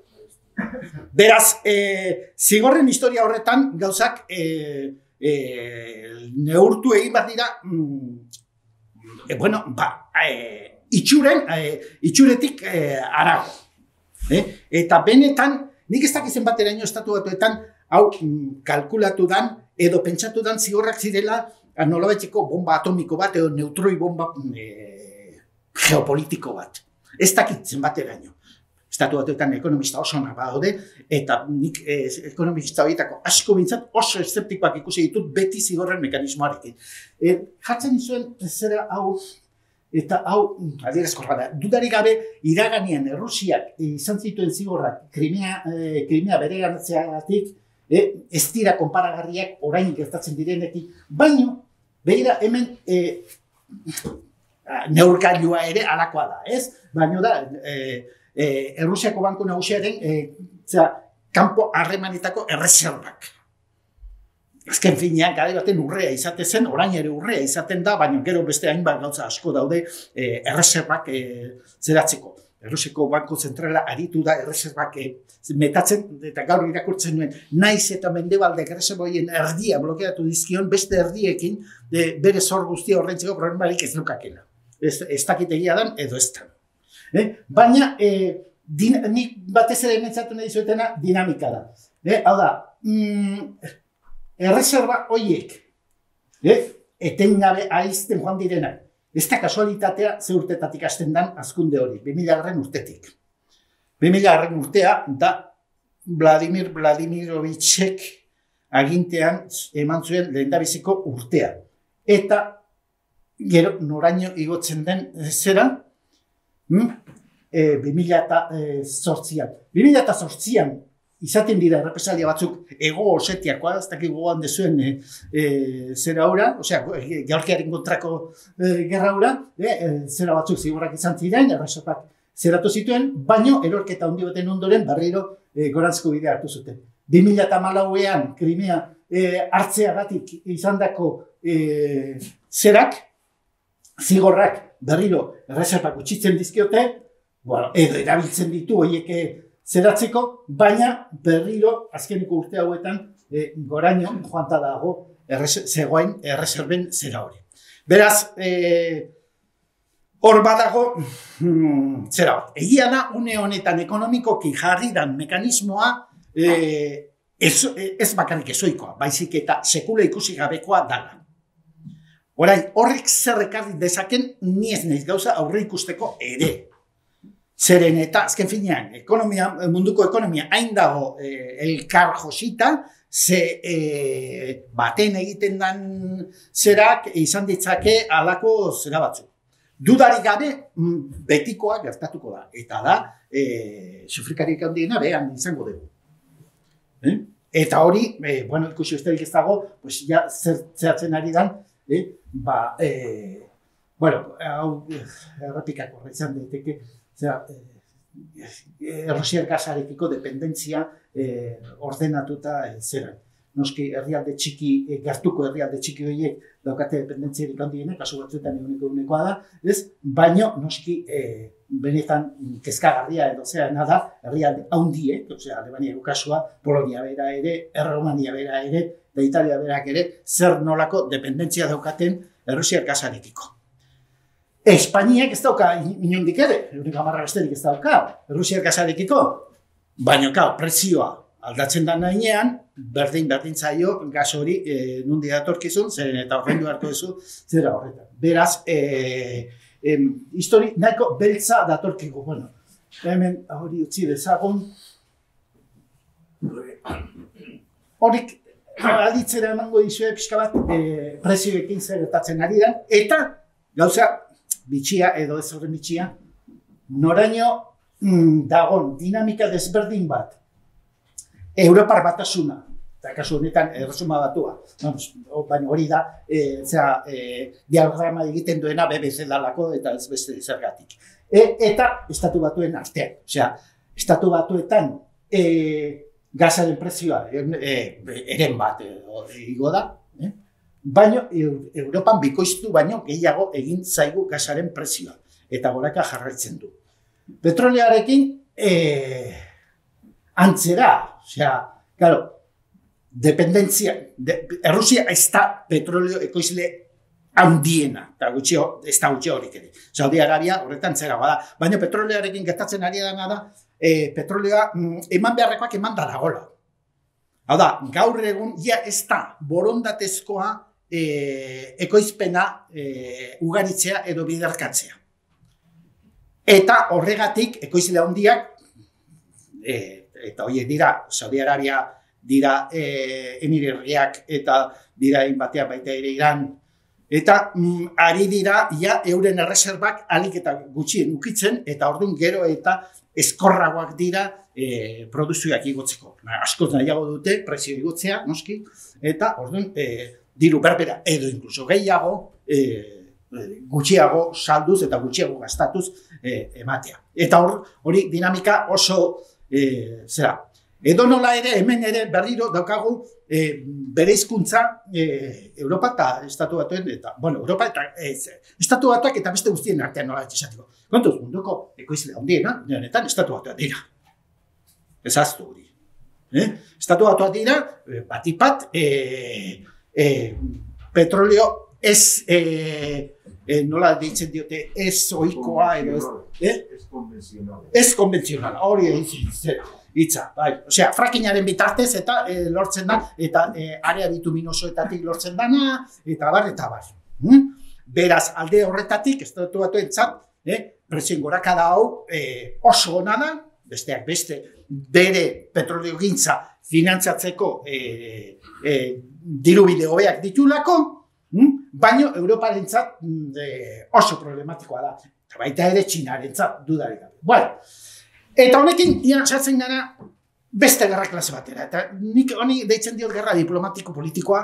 C: Beraz, eh, zigorren historia horretan gauzak eh, eh, neurtu egin bat dira, mm, eh, bueno, ba, eh, itxuren, eh, itxuretik eh, arago. Eh? Eta benetan, nik ez dakizen bateraino estatu batuetan, hau mm, kalkulatu dan, edo pentsatu dan zigorrak zirela nolabaiteko bomba atomiko bat edo neutroi bomba e, geopolitiko bat. Ez dakit zenbateraino. Estatu batuetan ekonomista oso onak badaude, eta nik e, ekonomista horietako asko bintzat oso eszeptikoak ikusi ditut beti zigorren mekanismoarekin. E, jartzen zuen zera hau, eta hau, adierazkorra da, dudarik gabe iraganean Errusiak izan zituen zigorrak Krimea, e, Krimea bereganatzeagatik, E, ez dira konparagarriak orain gertatzen direnekin, baino, begira hemen e, neurgailua ere alakoa da, ez? Baino da, e, e, Errusiako Banku Nagusiaren e, zera, kanpo harremanetako erreserbak. Azken finean, gara baten urrea izaten zen, orain ere urrea izaten da, baina gero beste hainbat gauza asko daude e, erreserbak e, zeratzeko. Errusiako Banku Zentrala aritu da erreserbak e, metatzen, eta gaur irakurtzen nuen, naiz eta mendebaldek erreserboien erdia blokeatu dizkion, beste erdiekin de, bere zor guztia horrentzeko problemarik ez nukakela. Ez, ez dakitegia dan, edo ez da. Eh? Baina, eh, din, nik batez ere ementzatu nahi zuetena dinamika da. Eh? Hau da, mm, erreserba horiek, eh? etengabe aizten joan direnak. Ez da kasualitatea ze urtetatik hasten dan azkunde hori, bi mila garren urtetik. bi mila garren urtea da Vladimir Vladimirovitchek agintean eman zuen lehendabiziko urtea. Eta gero noraino igotzen den zera, hmm? e, bi mila zortzian. bi mila zortzian izaten dira errepresalia batzuk ego osetiakoa, ez dakik gogoan dezuen e, e, zera hura, osea, Georgiaren kontrako e, gerra hura, e, zera batzuk zigorrak izan ziren, erreserpak zeratu zituen, baino erorketa handi baten ondoren berriro e, gorantzko bidea hartu zuten. bi mila hamalauean Krimea e, hartzeagatik izandako e, zerak, zigorrak berriro erreserpak utxitzen dizkiote, bueno, edo erabiltzen ditu horiek zeratzeko, baina berriro azkeneko urte hauetan e, goraino joanta dago erres, zegoen erreserben zera hori. Beraz, e, hor badago, hmm, zera bat, egia da, une honetan ekonomikoki jarri dan mekanismoa e, ez, ez bakarrik ezoikoa, baizik eta sekula ikusi gabekoa dala. Orain, horrek zer ekarri dezaken, ni ez naiz gauza aurre ikusteko ere. Zeren eta, azken finean, ekonomia, munduko ekonomia hain dago e, elkar josita, ze e, baten egiten dan zerak izan ditzake alako zera batzu. Dudarik gabe, betikoa gertatuko da. Eta da, e, sufrikarik handiena behan izango dugu. Eh? Eta hori, e, bueno, ikusi usterik ez dago, pues ja zeratzen ari dan, eh? ba, e, bueno, hau errepikako izan daiteke, zera, e, Errusiar gasarekiko dependentzia e, ordenatuta e, zera. noski herrialde txiki, gertuko herrialde txiki horiek daukate dependentziarik handienak, kasu batzuetan eguneko egunekoa da, ez? Baino noski e, benetan kezkagarria edo zeana da herrialde handiek, osea Alemaniako kasua, Polonia bera ere, Erromania bera ere, eta Italia berak ere, zer nolako dependentzia daukaten Errusiar gasarekiko. Espainiak ez dauka inondik ere, euriko hamarra besterik ez dauka, Errusiar gasarekiko, baina kau, prezioa aldatzen da nahinean, berdin berdin zaio gas hori e, nundi datorkizun, zeren eta horrendu harko duzu, zera horretan. Beraz, e, e, histori nahiko beltza datorkigu. Bueno, hemen hori utzi dezagun. Horik aditzera emango dizue pixka bat e, prezioekin zer gertatzen ari da, eta gauza bitxia edo ez horren bitxia, noraino mm, dagon dinamika desberdin bat, Europar batasuna, eta kasu honetan erresuma batua, baina hori da, e, zera, e, diagrama egiten duena B B C dalako eta ez beste zergatik. E, eta estatu batuen artean, osea, estatu batuetan e, gasaren prezioa e, eren bat igo da, eh? Baina Europan bikoiztu baino gehiago egin zaigu gasaren prezioa, eta goraka jarraitzen du. Petrolearekin, e, antzera, osea, claro, dependentzia, de, Errusia ez da petroleo ekoizle handiena, eta gutxi, ez da gutxi horik ere. Saudi Arabia horretan zeragoa da, baina petrolearekin gertatzen ari dena da, e, petrolea mm, eman beharrekoak eman da dagoela. Hau da, gaur egun, ja ez da borondatezkoa e, ekoizpena e, ugaritzea edo biderkatzea. Eta horregatik, ekoizle handiak, e, eta horiek dira, Saudi Arabia dira e, Emirerriak eta dira inbateak baita ere Iran, eta mm, ari dira ja euren erreserbak alik eta gutxien ukitzen, eta orduan gero eta eskorragoak dira e, produzioak igotzeko. Askoz nahiago dute, prezio igotzea, noski, eta orduan e, diru berbera edo inkluso gehiago, e, gutxiago salduz eta gutxiago gastatuz e, ematea. Eta hor, hori dinamika oso E, zera, edo nola ere, hemen ere berriro daukagu e, bere hizkuntza e, Europa eta Estatu Batuen, eta, bueno, Europa eta e, Estatu Batuak eta beste guztien artean nola esateko. Kontuz, munduko ekoizle handiena, honetan Estatu Batuak dira. Ez aztu hori. Eh? Estatu Batuak dira, batipat, e, e, petroleo ez, e, e, nola deitzen diote, ez ohikoa edo ez... Eh?
E: Ez konvenzional.
C: Ez konvenzional, hori hitza, bai. Osea, frackingaren bitartez eta e, lortzen da, eta e, area bituminosoetatik lortzen dana, eta bar, eta bar. Hmm? Beraz, alde horretatik, ez dut batuentzat, eh, prezioen gorakada hau e, oso ona da, besteak beste, bere petroleogintza finantzatzeko e, e, dirubide hobeak ditulako, hmm? Baina Europarentzat e, oso problematikoa da. Eta baita ere Txinarentzat dudarik gabe. Bueno, eta honekin ia sartzen gara beste gerra klase batera. Eta nik honi deitzen diot gerra diplomatiko-politikoa,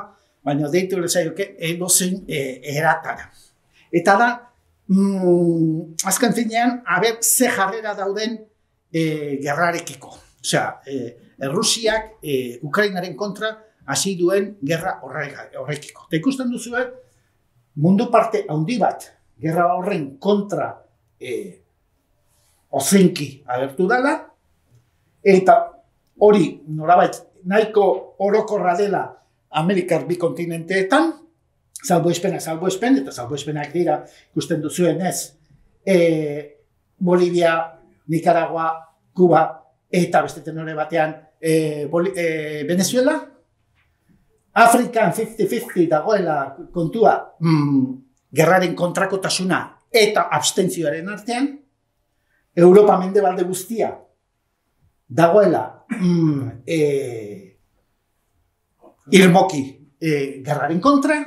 C: baina deitu lezaioke edozein e, eratara. Eta da, mm, azken finean, haber ze jarrera dauden e, gerrarekiko. Osea, e, Errusiak e, Ukrainaren kontra hasi duen gerra horrekiko. Eta ikusten duzue, mundu parte handi bat, gerra horren kontra e, ozenki agertu dela, eta hori norabait nahiko orokorra dela Amerikar bi kontinenteetan, salbuespenak salbuespen, eta salbuespenak dira ikusten duzuen ez, e, Bolivia, Nicaragua, Kuba, eta beste tenore batean e, Boli, e, Venezuela, Afrikan fifty fifty dagoela kontua, mm, gerraren kontrakotasuna eta abstentzioaren artean, Europa mendebalde guztia dagoela mm, e, irmoki e, gerraren kontra,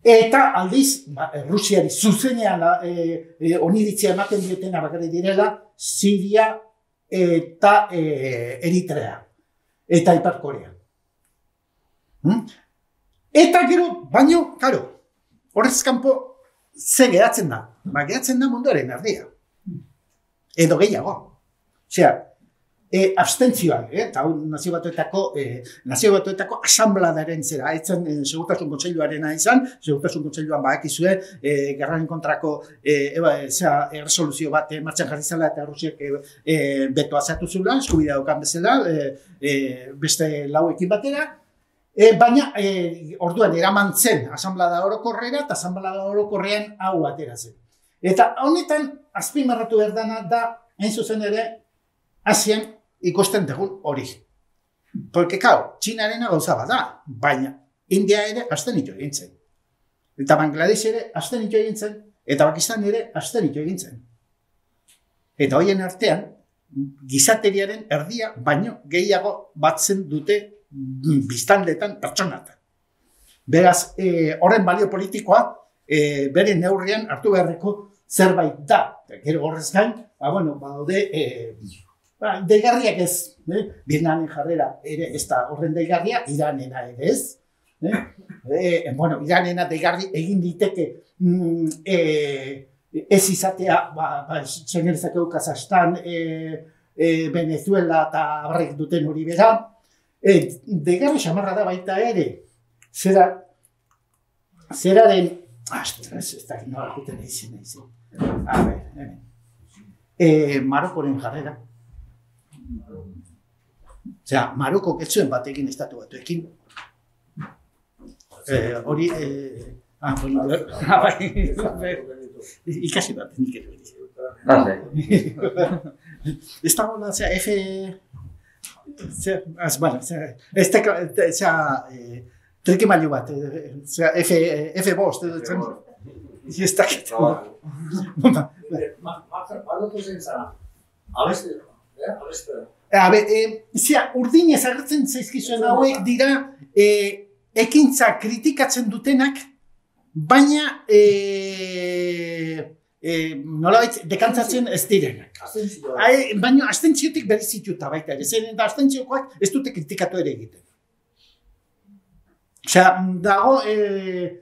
C: eta aldiz, ba, Rusiari zuzenean e, e, oniritzia ematen diotena bakarrik direla, Siria eta e, Eritrea eta Ipar Korea. Hmm? Eta gero, baino, karo, horrez kanpo ze geratzen da? Ba, geratzen da munduaren erdia. Edo gehiago. Osea, E, abstentzioan, eh? eta nazio batuetako, eh, nazio batuetako asambladaren zera, etzen eh, segurtasun kontseiluarena izan, segurtasun kontseiluan badakizue, eh, gerraren kontrako eh, eba, zera, erresoluzio bat eh, martxan jarri zela eta Errusiak eh, eh, betoa zatu zula, eskubidea daukan bezala, eh, eh, beste lauekin batera, eh, baina eh, orduan eraman zen asamblada orokorrera eta asamblada orokorrean hau atera zen. Eta honetan, azpimarratu berdana da, hain zuzen ere, Asian ikusten dugun hori. Porque, kau, Txinarena gauza bada, baina India ere abstenitu egin zen. Eta Bangladesh ere abstenitu egin zen, eta Pakistan ere abstenitu egin zen. Eta hoien artean, gizateriaren erdia baino gehiago batzen dute biztanletan pertsonatan. Beraz, eh, horren balio politikoa, eh, bere neurrian hartu beharreko zerbait da. Gero horrez gain, ba, bueno, badaude, eh, ba, deigarriak ez, eh? Vietnamen jarrera ere ez da horren deigarria, Iranena ere ez. Eh? Eh, bueno, Iranena deigarri egin diteke mm, eh, ez izatea, ba, ba, txenerizakeu Kazastan, eh, eh, Venezuela eta abarrek duten hori bera. Eh, deigarri xamarra da baita ere, zera, zeraren, astras, ez da, nola juten egin egin. A ber, hemen. Eh, Marokoren jarrera. Osea, Maroko ketzuen batekin estatu batuekin. Hori, ah, bueno, ikasi bat, nik ere hori. Ez da hola, osea, F... Bueno, ez da, trikimailu bat, osea, F bost, ez da,
B: Maroko zen zara, abeste, abeste.
C: A ber, e, zera, urdinez agertzen zaizkizuen hauek dira e, ekintza kritikatzen dutenak, baina e, e, nolabait dekantzatzen ez direnak. Ai, baina astentziotik berizituta baita ere, zen eta astentziokoak ez dute kritikatu ere egiten. Osea, dago, e,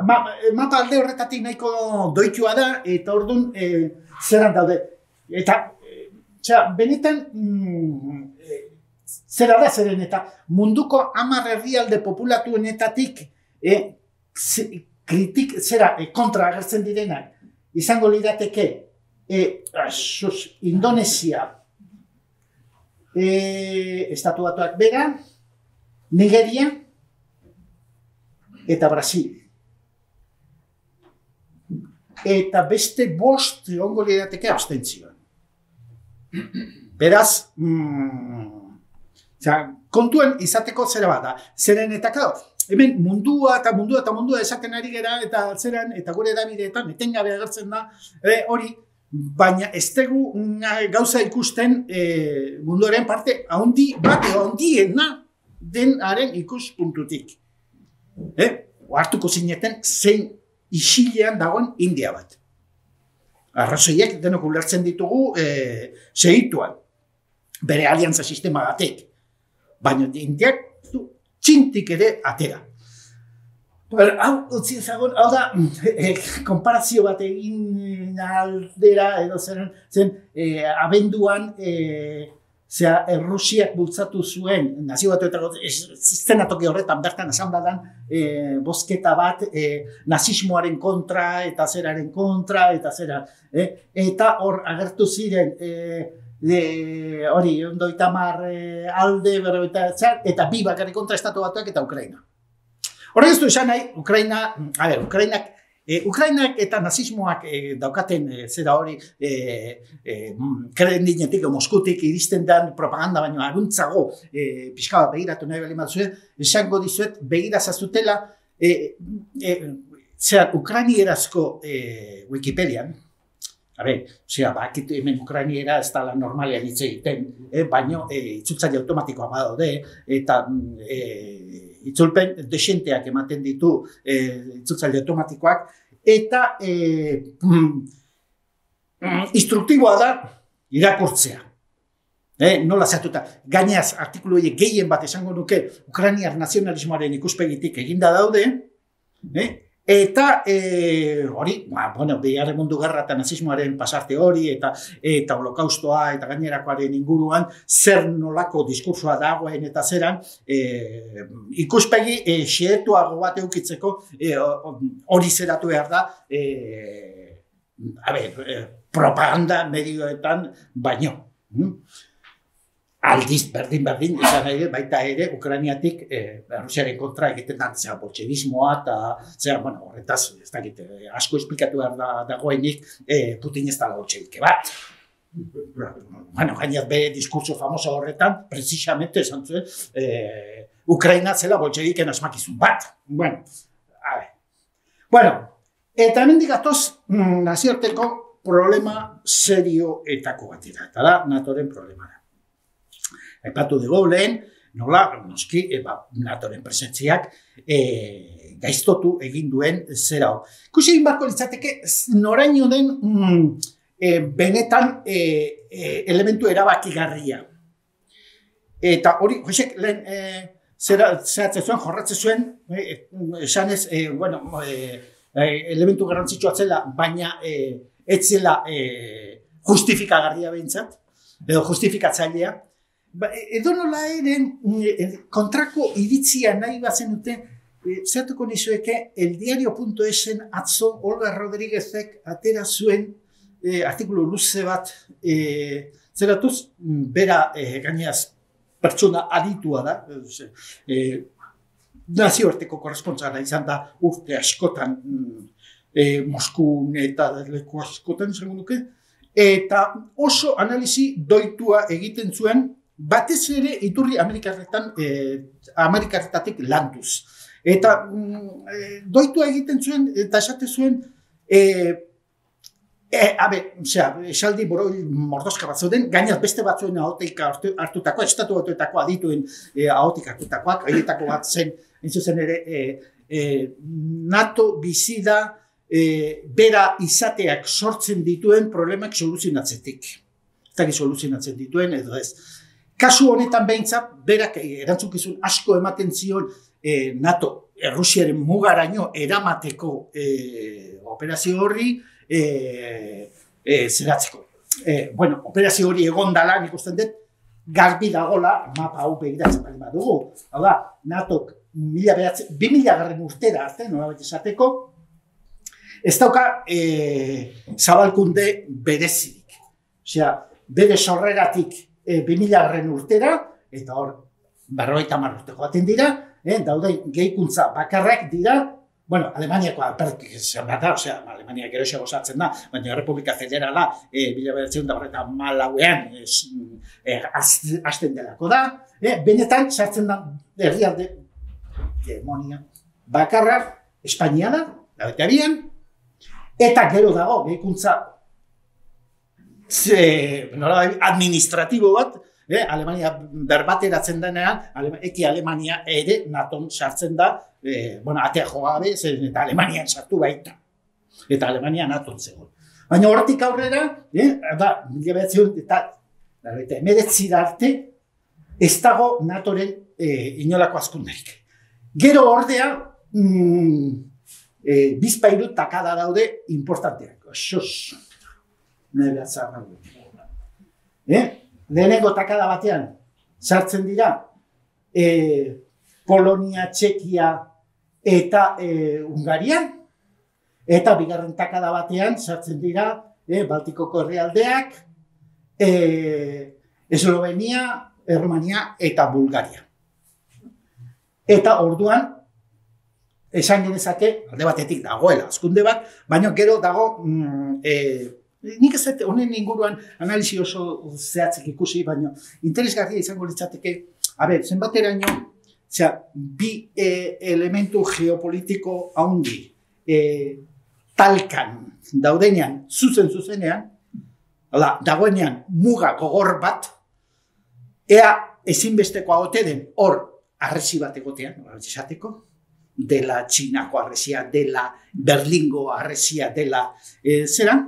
C: ma, mapa alde horretatik nahiko doitua da, eta orduan e, zeran daude. Eta Osea, benetan, mm, e, zera da zeren eta munduko hamar herrialde populatuenetatik e, kritik, zera, e, kontra agertzen direnak, izango lirateke e, asus, Indonesia, e, Estatu Batuak bera, Nigeria eta Brasil. Eta beste bost egongo lirateke abstentzioan. Beraz, mm, zera, kontuen izateko zera bat da. Zeren eta, claro, hemen mundua eta mundua eta mundua esaten ari gera eta zeran eta gure edabideetan etengabe agertzen da e, hori, baina ez dugu gauza ikusten e, munduaren parte haundi bat edo haundiena denaren ikuspuntutik. Eh? Hartuko zineten zein isilean dagoen India bat. Arrazoiek denok ulertzen ditugu e, segituan, bere aliantza sistema batek. Baina Indiak txintik ere atera. Hau, utzi ezagun, hau da, e, konparazio bat egin aldera, edo zen, zen e, abenduan, e, zera, Errusiak bultzatu zuen, nazio batuetako, zenatoki horretan, bertan asanbladan, e, bozketa bat, e, nazismoaren kontra, eta zeraren kontra, eta zera, e, eta hor agertu ziren, e, de, hori, ondoita mar e, alde, berroita, eta bi bakarrik kontra Estatu Batuak eta Ukraina. Horrek ez du esan nahi, Ukraina, a ber, Ukrainak, E, Ukrainak eta nazismoak e, daukaten e, zera hori e, e, Kremlinetik o Moskutik iristen den propaganda baino aruntzago e, pixka bat begiratu nahi bali mazue, esango dizuet begira zazutela e, e, zera ukrainierazko e, Wikipedian, a ber, zera, bakitu hemen ukrainiera ez da normalean hitz egiten, e, baino e, itzultzaile automatikoa badaude eta e, itzulpen desenteak ematen ditu e, itzultzaile automatikoak, eta e, mm, instruktiboa da irakurtzea. E, nola zatuta, gainaz artikulu horiek gehien bat esango nuke Ukrainiar nazionalismoaren ikuspegitik eginda daude, e, Eta e, hori, ba, bueno, Bigarren Mundu Gerra eta nazismoaren pasarte hori, eta eta holokaustoa eta gainerakoaren inguruan, zer nolako diskursoa dagoen eta zeran, e, ikuspegi e, xehetuago bat eukitzeko e, hori zeratu behar da, e, a ber, e, propaganda medioetan baino. Mm? Aldiz, berdin-berdin, izan ere, baita ere, Ukrainiatik eh, Rusiaren kontra egiten da, zera, boltxebismoa, eta, zera, bueno, horretaz, ez dakit, eh, asko esplikatu behar da, dagoenik, eh, Putin ez da boltxebike bat. Bueno, gainaz be diskurso famoso horretan, precisamente, esan zuen, eh, Ukraina zela boltxebiken asmakizun bat. Bueno, a ver. Bueno, eta hemen digatoz, mm, nazioarteko problema serioetako batera, eta da, NATOren problemara. Aipatu dugu lehen, nola, noski, e, ba, NATOren presentziak e, gaiztotu egin duen zera hau. Ikusi egin barko litzateke, noraino den mm, e, benetan e, e, elementu erabakigarria. Eta hori, Josek, lehen e, zeratzen zuen, jorratzen zuen, e, esanez, e, bueno, e, e, elementu garrantzitsua zela, baina e, ez zela e, justifikagarria behintzat, edo justifikatzailea. Ba, edo nola eren kontrako iritzia nahi bazen dute, e, zertuko nizueke, eldiario.esen atzo Olga Rodríguezek atera zuen e, artikulu luze bat e, zeratuz, bera e, gainaz pertsona aditua da, e, nazioarteko korrespontsala izan da urte askotan e, Moskun eta leku askotan izango nuke, eta oso analizi doitua egiten zuen, batez ere iturri Amerikarretan, eh, Amerikarretatik landuz. Eta mm, eh, doitua egiten zuen, eta esate zuen, eh, eh, abe, osea, esaldi boroi mordoska bat zauden, gainaz beste batzuen ahotik hartutakoa, estatu batuetako adituen eh, ahotik hartutakoak, haietako bat zen, entzuzen ere, eh, eh, NATO bizi da eh, bera izateak sortzen dituen problemak soluzionatzetik. Ez dakit soluzionatzen dituen, edo ez. Kasu honetan behintzat, berak erantzukizun asko ematen zion eh, NATO Errusiaren mugaraino eramateko eh, operazio horri eh, eh, zeratzeko. Eh, bueno, operazio hori egon dala, nik usten dut, garbi dagola, mapa hau begiratzen bali badugu. Hau da, NATOk bi mila garren urtera arte, nolabait esateko, ez dauka eh, zabalkunde berezirik. Osea, bere sorreratik E, bi mila garren urtera, eta hor, berrogeita hamar urte joaten dira, eh, daude gehikuntza bakarrak dira, bueno, Alemaniakoa pertik zen bat da, osea, Alemania geroxeago sartzen da, baina Republika Federala e, mila bederatziehun eta horreta hamalauean e, hasten delako da, eh, benetan sartzen da herrialde hegemonia bakarra, Espainia da, laurogeita bian, eta gero dago gehikuntza Ze, nola, administratibo bat, eh, Alemania berbateratzen denean, Alema, eki Alemania ere NATOn sartzen da, eh, bueno, atea jogabe, eta Alemanian sartu baita. Eta Alemania NATOn zegoen. Baina hortik aurrera, eh, da, mila bederatziehun eta hemeretzi arte, ez dago NATOren eh, inolako azkunderik. Gero ordea, mm, eh, bizpairu takada daude importanteak. Xos. Nahi behatzar nago. Eh? Lehenengo takada batean sartzen dira eh, Polonia, Txekia eta eh, Hungarian, eta bigarren takada batean sartzen dira eh, Baltikoko herrialdeak, eh, Eslovenia, Errumania eta Bulgaria. Eta orduan, esan genezake, alde batetik dagoela azkunde bat, baina gero dago mm, eh, nik ez dut honen inguruan analizi oso zehatzik ikusi, baina interesgarria izango litzateke, a ber, zenbateraino, zera, bi e, elementu geopolitiko haundi e, talkan daudenean, zuzen-zuzenean, dagoenean muga gogor bat, ea ezinbestekoa ote den hor arresi bat egotean, esateko, dela Txinako arresia, dela Berlingo arresia, dela e, zeran,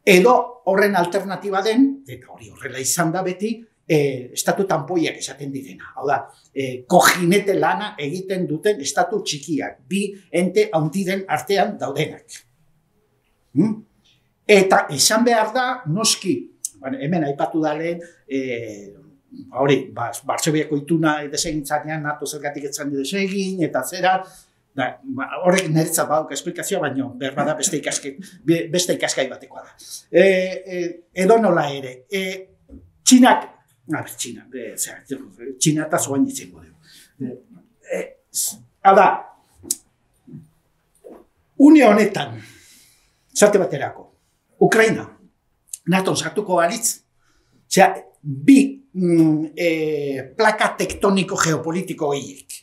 C: edo horren alternatiba den, eta hori horrela izan da beti, e, estatu tanpoiak esaten direna. Hau da, e, kojinete lana egiten duten estatu txikiak, bi ente handiren artean daudenak. Hmm? Eta esan behar da, noski, bueno, hemen aipatu da lehen, e, hori, ba, Bartxobiako ituna desegintzanean, NATO zergatik etzan desegin, eta zera, da, ba, horrek niretzat badauka esplikazioa, baina berbada beste ikaskai, beste ikaskai batekoa da. E, e, edo nola ere, e, Txinak, a ber, Txina, e, zera, Txina eta zoan izango dugu. E, hau da, une honetan, zarte baterako, Ukraina, NATO sartuko balitz, zera, bi mm, e, plaka tektoniko geopolitiko gehiek.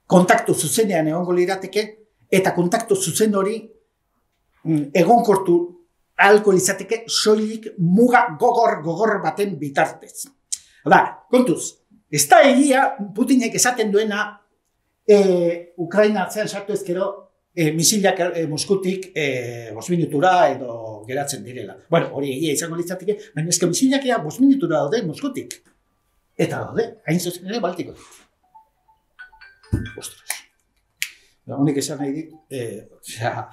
C: Kontaktu zuzenean egongo lirateke, eta kontaktu zuzen hori mm, egonkortu ahalko izateke soilik muga gogor-gogor baten bitartez. Da, kontuz, ez da egia Putinek esaten duena e, Ukraina atzean sartu ezkero e, misilak e, Moskutik e, bost minutura edo geratzen direla. Bueno, hori egia izango litzateke, baina ezke misilak ea bost minutura daude Moskutik. Eta daude, hain zuzen ere Baltikotik. Ostras. Da, honek esan nahi dit, eh, osea,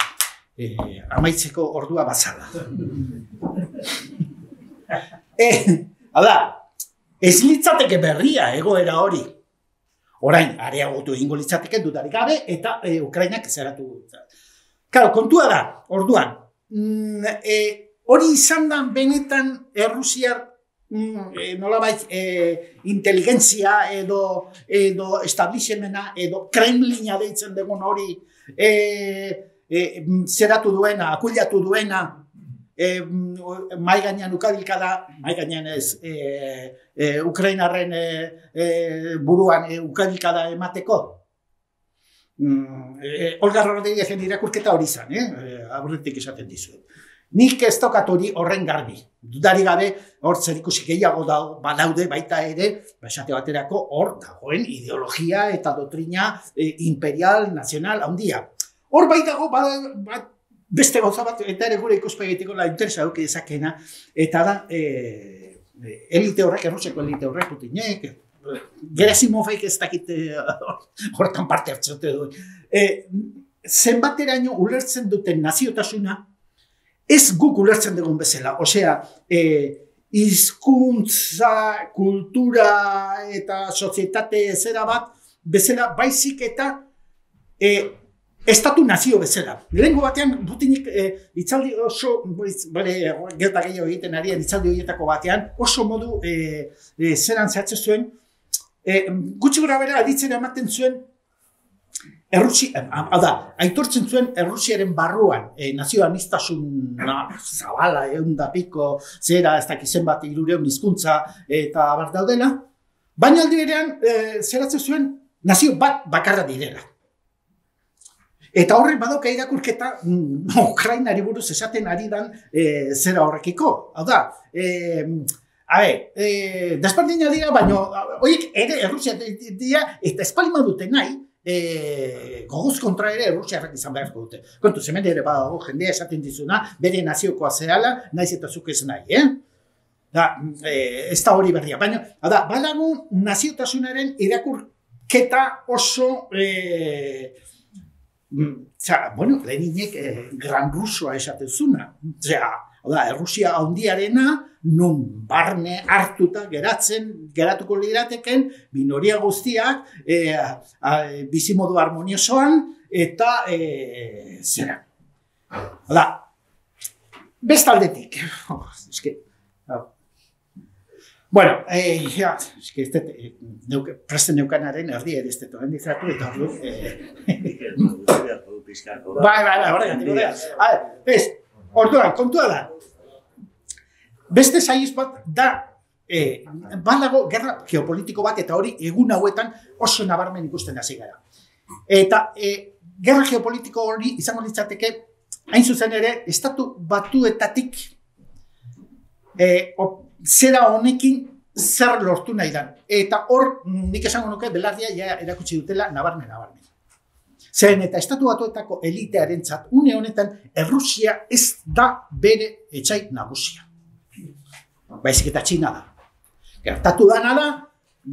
C: eh, amaitzeko ordua bazala. eh, Hala, ez litzateke berria egoera hori. Orain, areagotu egingo litzateke dudarik gabe, eta eh, Ukrainak zeratu. Claro, kontua da, orduan, mm, eh, hori izan da benetan Errusiar E, nolabait e, inteligentzia edo, edo establishmenta edo Kremlina deitzen dugun hori e, e, zeratu duena, akuilatu duena e, mai gainean ukabilka da, mai gainean ez e, e, Ukrainarren e, e, buruan e, ukabilka da emateko. Mm, e, Olga Rodríguezen irakurketa hori izan, eh? Aurretik esaten dizuet. Nik ez tokat hori horren garbi. Dudari gabe, hor zerikusi gehiago badaude baita ere, esate baterako hor dagoen ideologia eta doktrina e, imperial, nazional, handia. Hor bai dago, bada, bat, beste gauza bat, eta ere gure ikuspegitiko la interesa duke dezakena, eta da, e, elite horrek, Errusiako elite horrek, Putinek, Gerasimovek ez dakit hortan parte hartzote duen. E, zenbateraino ulertzen duten naziotasuna, ez guk ulertzen dugun bezala, osea, e, hizkuntza, kultura eta sozietate zera bat, bezala baizik eta e, estatu nazio bezala. Lehengo batean, Putinik e, itzaldi oso, bale, gerta gehiago egiten arian, itzaldi horietako batean, oso modu e, e, zeran zehatzen zuen, e, gutxi gora bera aditzera ematen zuen, Errusia, hau da, aitortzen zuen Errusiaren barruan, e, nazio aniztasuna zabala, egun da piko, zera, ez dakizen bat hirureun hizkuntza eta abar daudela, baina aldi berean, e, zeratzen zuen nazio bat bakarra direla. Eta horrek badauka irakurketa mm, Ukrainari buruz esaten ari dan e, zera horrekiko. Hau da, e, Habe, e, desberdina dira, baina horiek ere Errusia dira, eta espalima dute nahi, E, gogoz kontra ere Errusiarrak izan beharko dute. Kontu, hemen ere badago jendea esaten dizuna, bere naziokoa zehala, naiz eta zuk ez nahi, eh? Da, e, ez da hori berria, baina, da, badago naziotasunaren irakurketa oso, e, zera, bueno, Leninek e, Gran Rusoa esaten zuna, zera, da, Errusia handiarena, nun barne hartuta geratzen, geratuko lirateken, minoria guztiak, e, a, bizimodu harmoniosoan, eta e, zera. Da, bestaldetik. Oh, eske, oh. Bueno, e, ja, eske, ez dut, neuke, presten neukanaren erdi ere ez dut, endizatu, eta hor du. Bai, bai, bai, horregatik. Ez, orduan, kontua da. Beste saiz bat da, eh, badago gerra geopolitiko bat eta hori egun hauetan oso nabarmen ikusten hasi gara. Eta eh, gerra geopolitiko hori izango litzateke, hain zuzen ere, estatu batuetatik eh, op, zera honekin zer lortu nahi dan. Eta hor, nik esango nuke, belardia ja erakutsi dutela nabarmen nabarmen. Zeren eta estatu batuetako elitearentzat une honetan Errusia ez da bere etxai nagusia. Baizik eta Txina da. Gertatu dana da,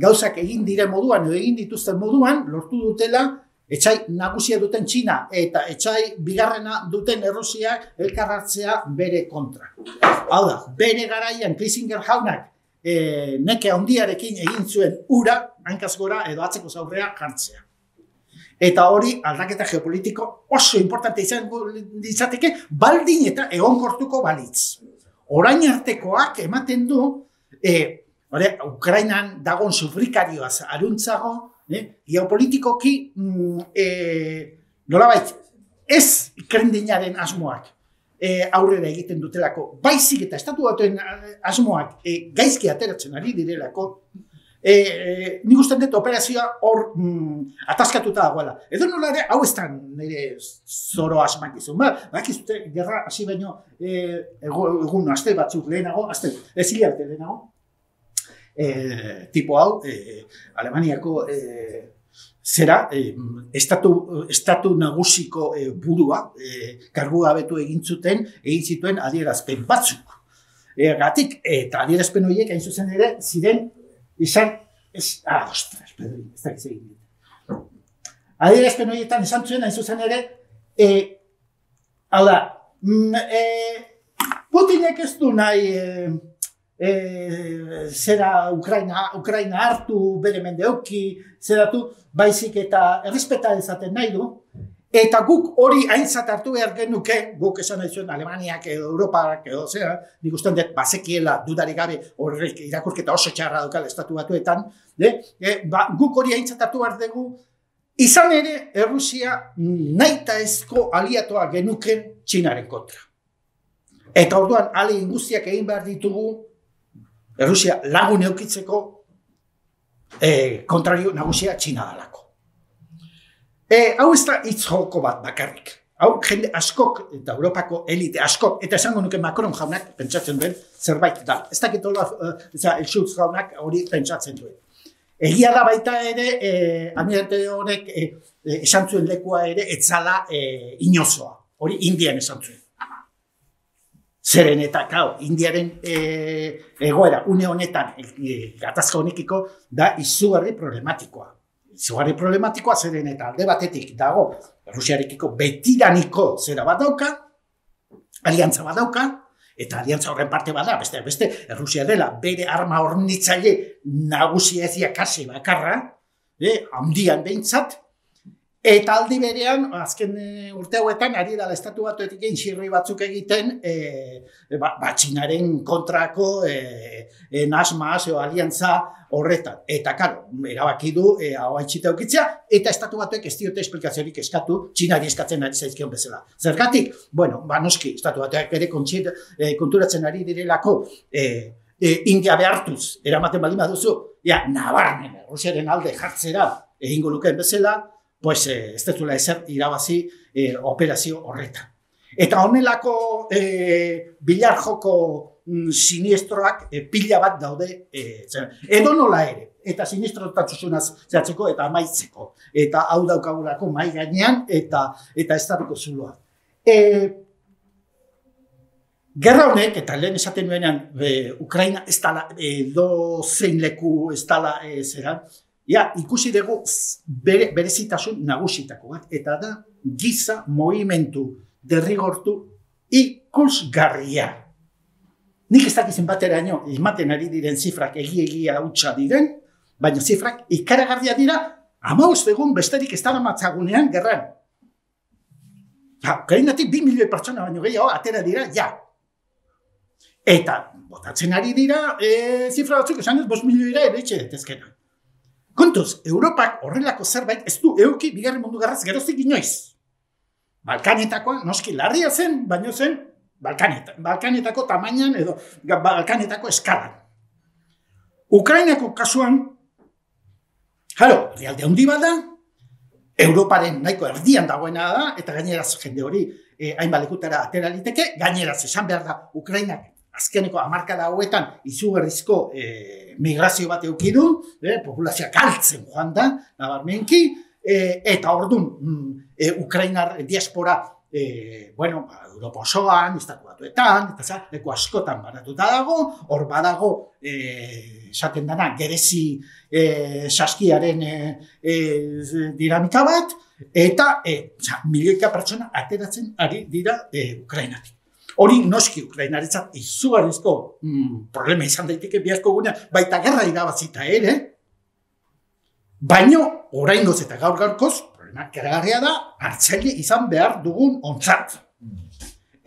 C: gauzak egin diren moduan edo egin dituzten moduan, lortu dutela, etxai nagusia duten Txina eta etxai bigarrena duten Errusiak elkarratzea bere kontra. Hau da, bere garaian Kissinger jaunak e, neke handiarekin egin zuen ura, hankaz gora edo atzeko zaurrea jartzea. Eta hori aldaketa geopolitiko oso importante izango izateke, baldin eta egonkortuko balitz. Orain artekoak ematen du, e, ore, Ukrainan dagoen sufrikarioaz aruntzago, eh, geopolitikoki mm, e, nolabait, ez krendinaren asmoak e, aurrera egiten dutelako, baizik eta estatu batuen asmoak e, gaizki ateratzen ari direlako, E, e, nik usten dut operazioa hor mm, ataskatuta dagoela. Edo nola ere, hau ez da nire zoro asmakizun. Ba, bakizute, gerra hasi baino e, egun aste batzuk lehenago, aste, ez hilabete lehenago, e, tipo hau, e, Alemaniako e, zera, e, estatu, estatu nagusiko e, burua, e, kargu gabetu egin zuten, egin zituen adierazpen batzuk. E, gatik, eta adierazpen horiek hain zuzen ere, ziren izan, ez, ah, ostras, Pedro, ez da egin. Adierazpen horietan esan zuen, hain zuzen ere, e, hau da, mm, e, Putinek ez du nahi e, e, zera Ukraina, Ukraina hartu, bere mende euki, zeratu, baizik eta errespeta ezaten nahi du, eta guk hori aintzat hartu behar genuke, guk esan nahi zuen Alemaniak edo Europak edo zera, nik ustean dut bazekiela dudarik gabe horrek irakurketa oso txarra daukal estatu batuetan, de, e, ba, guk hori aintzat hartu behar dugu, izan ere Errusia nahita ezko aliatoa genuken Txinaren kontra. Eta orduan ale guztiak egin behar ditugu Errusia lagun eukitzeko e, kontrario nagusia Txina dalako. E, hau ez da hitz joko bat bakarrik. Hau jende askok eta Europako elite askok, eta esango nuke Macron jaunak pentsatzen duen zerbait da. Ez dakit Olaf, uh, Schulz jaunak hori pentsatzen duen. Egia da baita ere, eh, almirante honek eh, esan zuen lekua ere, etzala eh, inozoa. Hori Indian esan zuen. Zeren eta, kau, Indiaren eh, egoera, une honetan, eh, gatazka honekiko, da izugarri problematikoa. Izugarri problematikoa zeren eta alde batetik dago Errusiarekiko betiraniko zera bat dauka, aliantza bat dauka, eta aliantza horren parte bada, beste, beste, Errusia dela bere arma hornitzaile nagusia ezia kasi bakarra, eh, handian behintzat, eta aldi berean, azken e, urte hauetan, ari dala estatu batuetik egin xirri batzuk egiten, e, ba, ba, Txinaren kontrako e, e, nasmaz o aliantza horretan. Eta, karo, erabaki du, e, hau haitxita eukitzea, eta estatu batuek ez diote esplikaziorik eskatu, Txinari eskatzen ari zaizkion bezala. Zergatik? Bueno, ba, noski, estatu batuek ere e, konturatzen ari direlako, e, e, India behartuz, eramaten baldin baduzu, ja, nabarmen, Errusiaren alde jartzera egingo lukeen bezala, pues eh, ez dezula ezer irabazi eh, operazio horretan. Eta honelako eh, bilar joko mm, siniestroak eh, pila bat daude, eh, edo nola ere, eta sinistrotasunaz zehatzeko eta amaitzeko. Eta hau daukagulako mai gainean eta eta estatuko zuloa. Eh, Gerra honek, eta lehen esaten nuenean, eh, Ukraina ez dala, edo zein leku ez dala eh, zeran, ja, ikusi dugu bere, berezitasun nagusitako bat, eta da giza movimentu derrigortu ikusgarria. Nik ez dakizen bateraino ematen ari diren zifrak egi-egia hutsa diren, baina zifrak ikaragarria dira, hamabost egun besterik ez dara matzagunean gerran. Ja, Ukrainatik bi milioi pertsona baino gehiago atera dira, ja. Eta botatzen ari dira e, zifra batzuk esan ez bost milioira ere etxe detezkena. Kontuz, Europak horrelako zerbait ez du euki bigarren mundu gerraz geroztik inoiz. Balkanetakoa, noski larria zen, baino zen Balkaneta, Balkanetako tamainan edo Balkanetako eskalan. Ukrainako kasuan, jaro, realde handi bat da, Europaren nahiko erdian dagoena da, eta gaineraz jende hori eh, hainbat lekutara atera liteke, gaineraz esan behar da Ukrainak azkeneko hamarkada hauetan izugarrizko eh, migrazio bat eduki du, eh, populazioa galtzen joan da, nabarmenki, eh, eta orduan mm, eh, Ukrainar diaspora e, bueno, ba, Europa osoan, Estatu Batuetan, eta za, leku askotan banatuta dago, hor badago, e, esaten dana, gerezi e, saskiaren e, e, dinamika bat, eta e, za, milioika pertsona ateratzen ari dira e, Ukrainatik. Hori noski Ukrainaretzat izugarrizko mm, problema izan daiteke biharko gunean, baita gerra irabazita ere, baino oraingoz eta gaur gaurkoz, problema keragarria da, hartzaile izan behar dugun ontzat.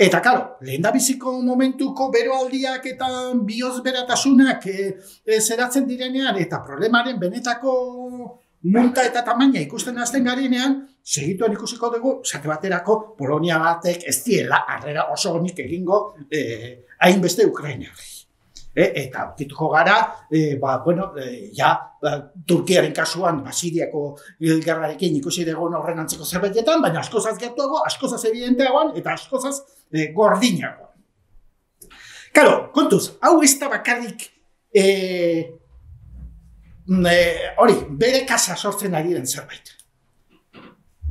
C: Eta, karo, lehen da biziko momentuko beroaldiak eta bihozberatasunak e, e, zeratzen direnean, eta problemaren benetako munta eta tamaina ikusten hasten garenean, segituan ikusiko dugu, esate baterako, Polonia batek ez diela harrera oso honik egingo eh, hainbeste Ukrainari. E, eta aurkituko gara, e, ba, bueno, e, ja, ba, Turkiaren kasuan, ba, Siriako gerrarekin ikusi dugun horren antzeko zerbaitetan, baina askozaz gertuago, askozaz evidenteagoan, eta askozaz e, gordinagoan. Karo, kontuz, hau ez da bakarrik e, hori, e, bere kasa sortzen ari den zerbait.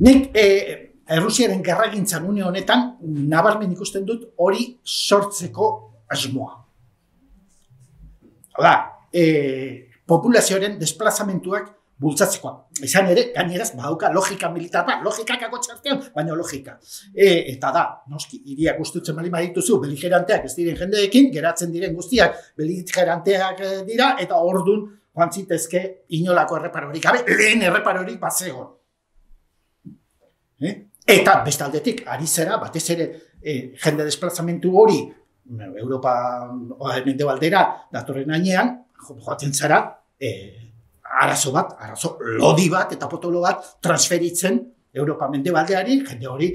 C: Nik e, Errusiaren gerragintzan une honetan nabarmen ikusten dut hori sortzeko asmoa. Hau da, e, populazioaren desplazamentuak bultzatzekoa. Izan ere, gaineraz, badauka logika militar bat, logika kako txartean, baina logika. E, eta da, noski, hiriak gustutzen bali badituzu, beligeranteak ez diren jendeekin, geratzen diren guztiak beligeranteak dira, eta ordun joan zitezke inolako erreparorik gabe, lehen erreparorik bat zegoen. Eh? Eta bestaldetik, ari zera, batez ere eh, jende desplazamentu hori Europa mendebaldera datorren ainean, joaten zara, eh, arazo bat, arazo lodi bat eta potolo bat transferitzen Europa mendebaldeari, jende hori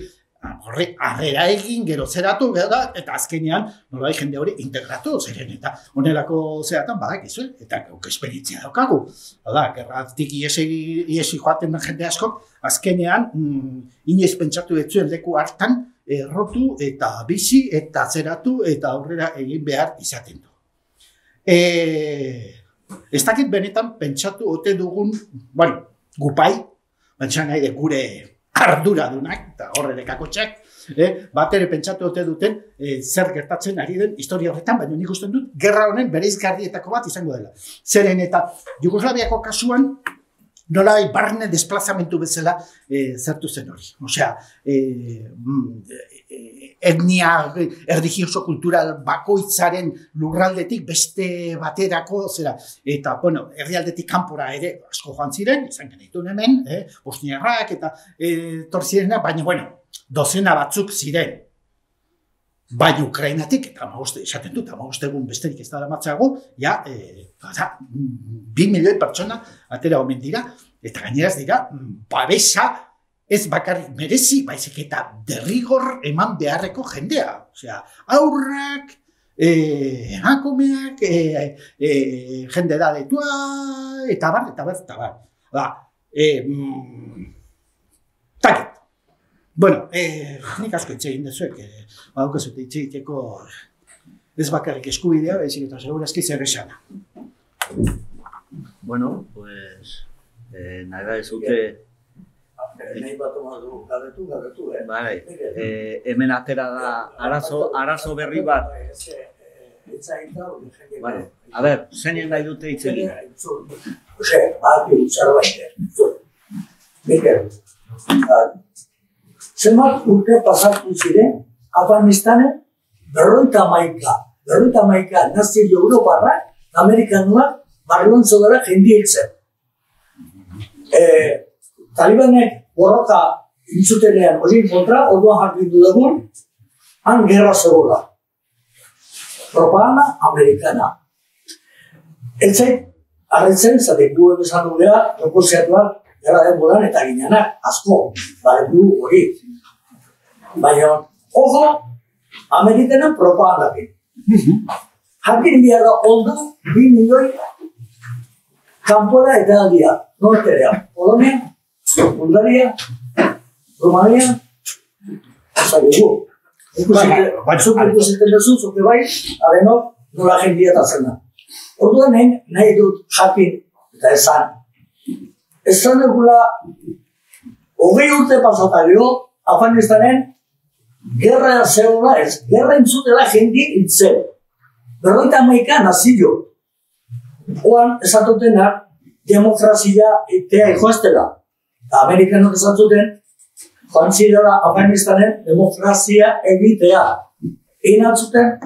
C: horre harrera egin, gero zeratu, eta azkenean nolai jende hori integratu ziren, eta honelako zeratan badakizu, eta gauk esperientzia daukagu. Hala, gerratik iesi joaten den jende askok, azkenean mm, inoiz pentsatu etzuen leku hartan errotu eta bizi eta zeratu eta aurrera egin behar izaten du. E, ez dakit benetan pentsatu ote dugun, bueno, gupai, baina nahi de gure arduradunak, eta horre kakotxak, eh, bat ere pentsatu ote duten eh, zer gertatzen ari den historia horretan, baina nik usten dut, gerra honen bereizgarrietako bat izango dela. Zeren eta Jugoslaviako kasuan, nola barne desplazamentu bezala eh, zertu zen hori. Osea, eh, etnia, erdigioso kultural bakoitzaren lurraldetik beste baterako, zera, eta, bueno, herrialdetik kanpora ere asko joan ziren, izan genituen hemen, eh, bosniarrak eta eh, torzirena, baina, bueno, dozena batzuk ziren. Baina Ukrainatik, eta amagoste, esaten dut, amagoste egun besterik ez dara matzago, ja, eh, bada, bi milioi pertsona atera omen dira, eta gaineraz dira, babesa, ez bakarrik merezi, baizik eta derrigor eman beharreko jendea. Osea, aurrak, eh, emakumeak, eh, eh, jende da detua, eta bar, eta bar, eta bar. Da, eh, mm, taket. Bueno, eh, nik asko itxe egin dezuek, eh, badauko zute itxe egiteko ez bakarrik eskubidea, baizik eta segurazki zer esana.
A: Bueno, pues, eh, nahi da ez dute...
B: Nahi bat omatu, gabetu, gabetu, eh?
A: Bai, eh, hemen atera da arazo, arazo berri bat. Vale, a ber, zeinen nahi dute hitz egin?
B: Ose, baki, zerbait, Mikel, zenbat urte pasatu ziren, Afganistanen, berroita maika, berroita maika nazio Europarrak, Amerikanuak, barlontzo dara jendi hiltzen. Talibanek borroka intzutelean hori kontra, orduan jakindu dugun, han gerra zegoela. Propaganda amerikana. Eltzait, arretzen, zatek du esan dugea, proposiatuak gerra denboran eta ginenak, asko, bare du hori. Baina, ojo, amerikanen propagandakin. Jakin bihar da ondo, bi milioi kanpora eta aldia, norterea, Polonia, Bulgaria, Romania, zagugu. Zuk ikusiten duzu, zuke bai, adenok nola jendia eta zena. Orduan nahi dut jakin eta esan. Esan egula, hogei urte pasata gero, Afganistanen gerra zegoela ez, gerra entzutela jendi hitzen. Berroita hamaika nazio. Oan esatutena demokrazia etea joaztela. Eta Amerikanok esatzuten, joan zirela Afganistanen demokrazia egitea. Egin altzuten?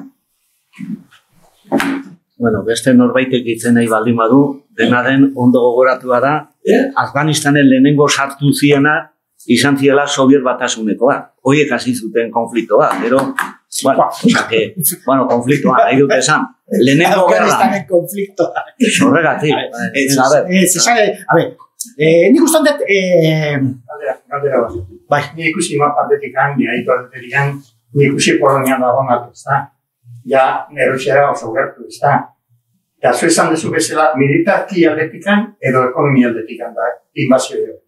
A: Bueno, beste norbaitek itzen nahi baldin badu, dena den ondo gogoratua da,
B: Eh?
A: Afganistanen lehenengo sartu ziena izan ziela Soviet Batasunekoa. Horiek hasi zuten konfliktoa, gero, bueno, oza, que, bueno, konfliktoa, nahi dut esan. Lehenengo gerra.
C: Afganistanen konfliktoa.
A: Horregatik.
C: Ez,
A: A ver,
C: ez, esare, a ver, eh, nik uste dut, eh,
D: Galdera, galdera bat.
C: bai,
D: Ni ikusi mapatetik handi, aitu aldeterian, ni ikusi Polonian dagoenak, ez da? Ja, Errusiara oso gertu, ez da? Eta zu esan dezu bezala, militarki aldetikan edo ekonomia aldetikan da, inbazio edo.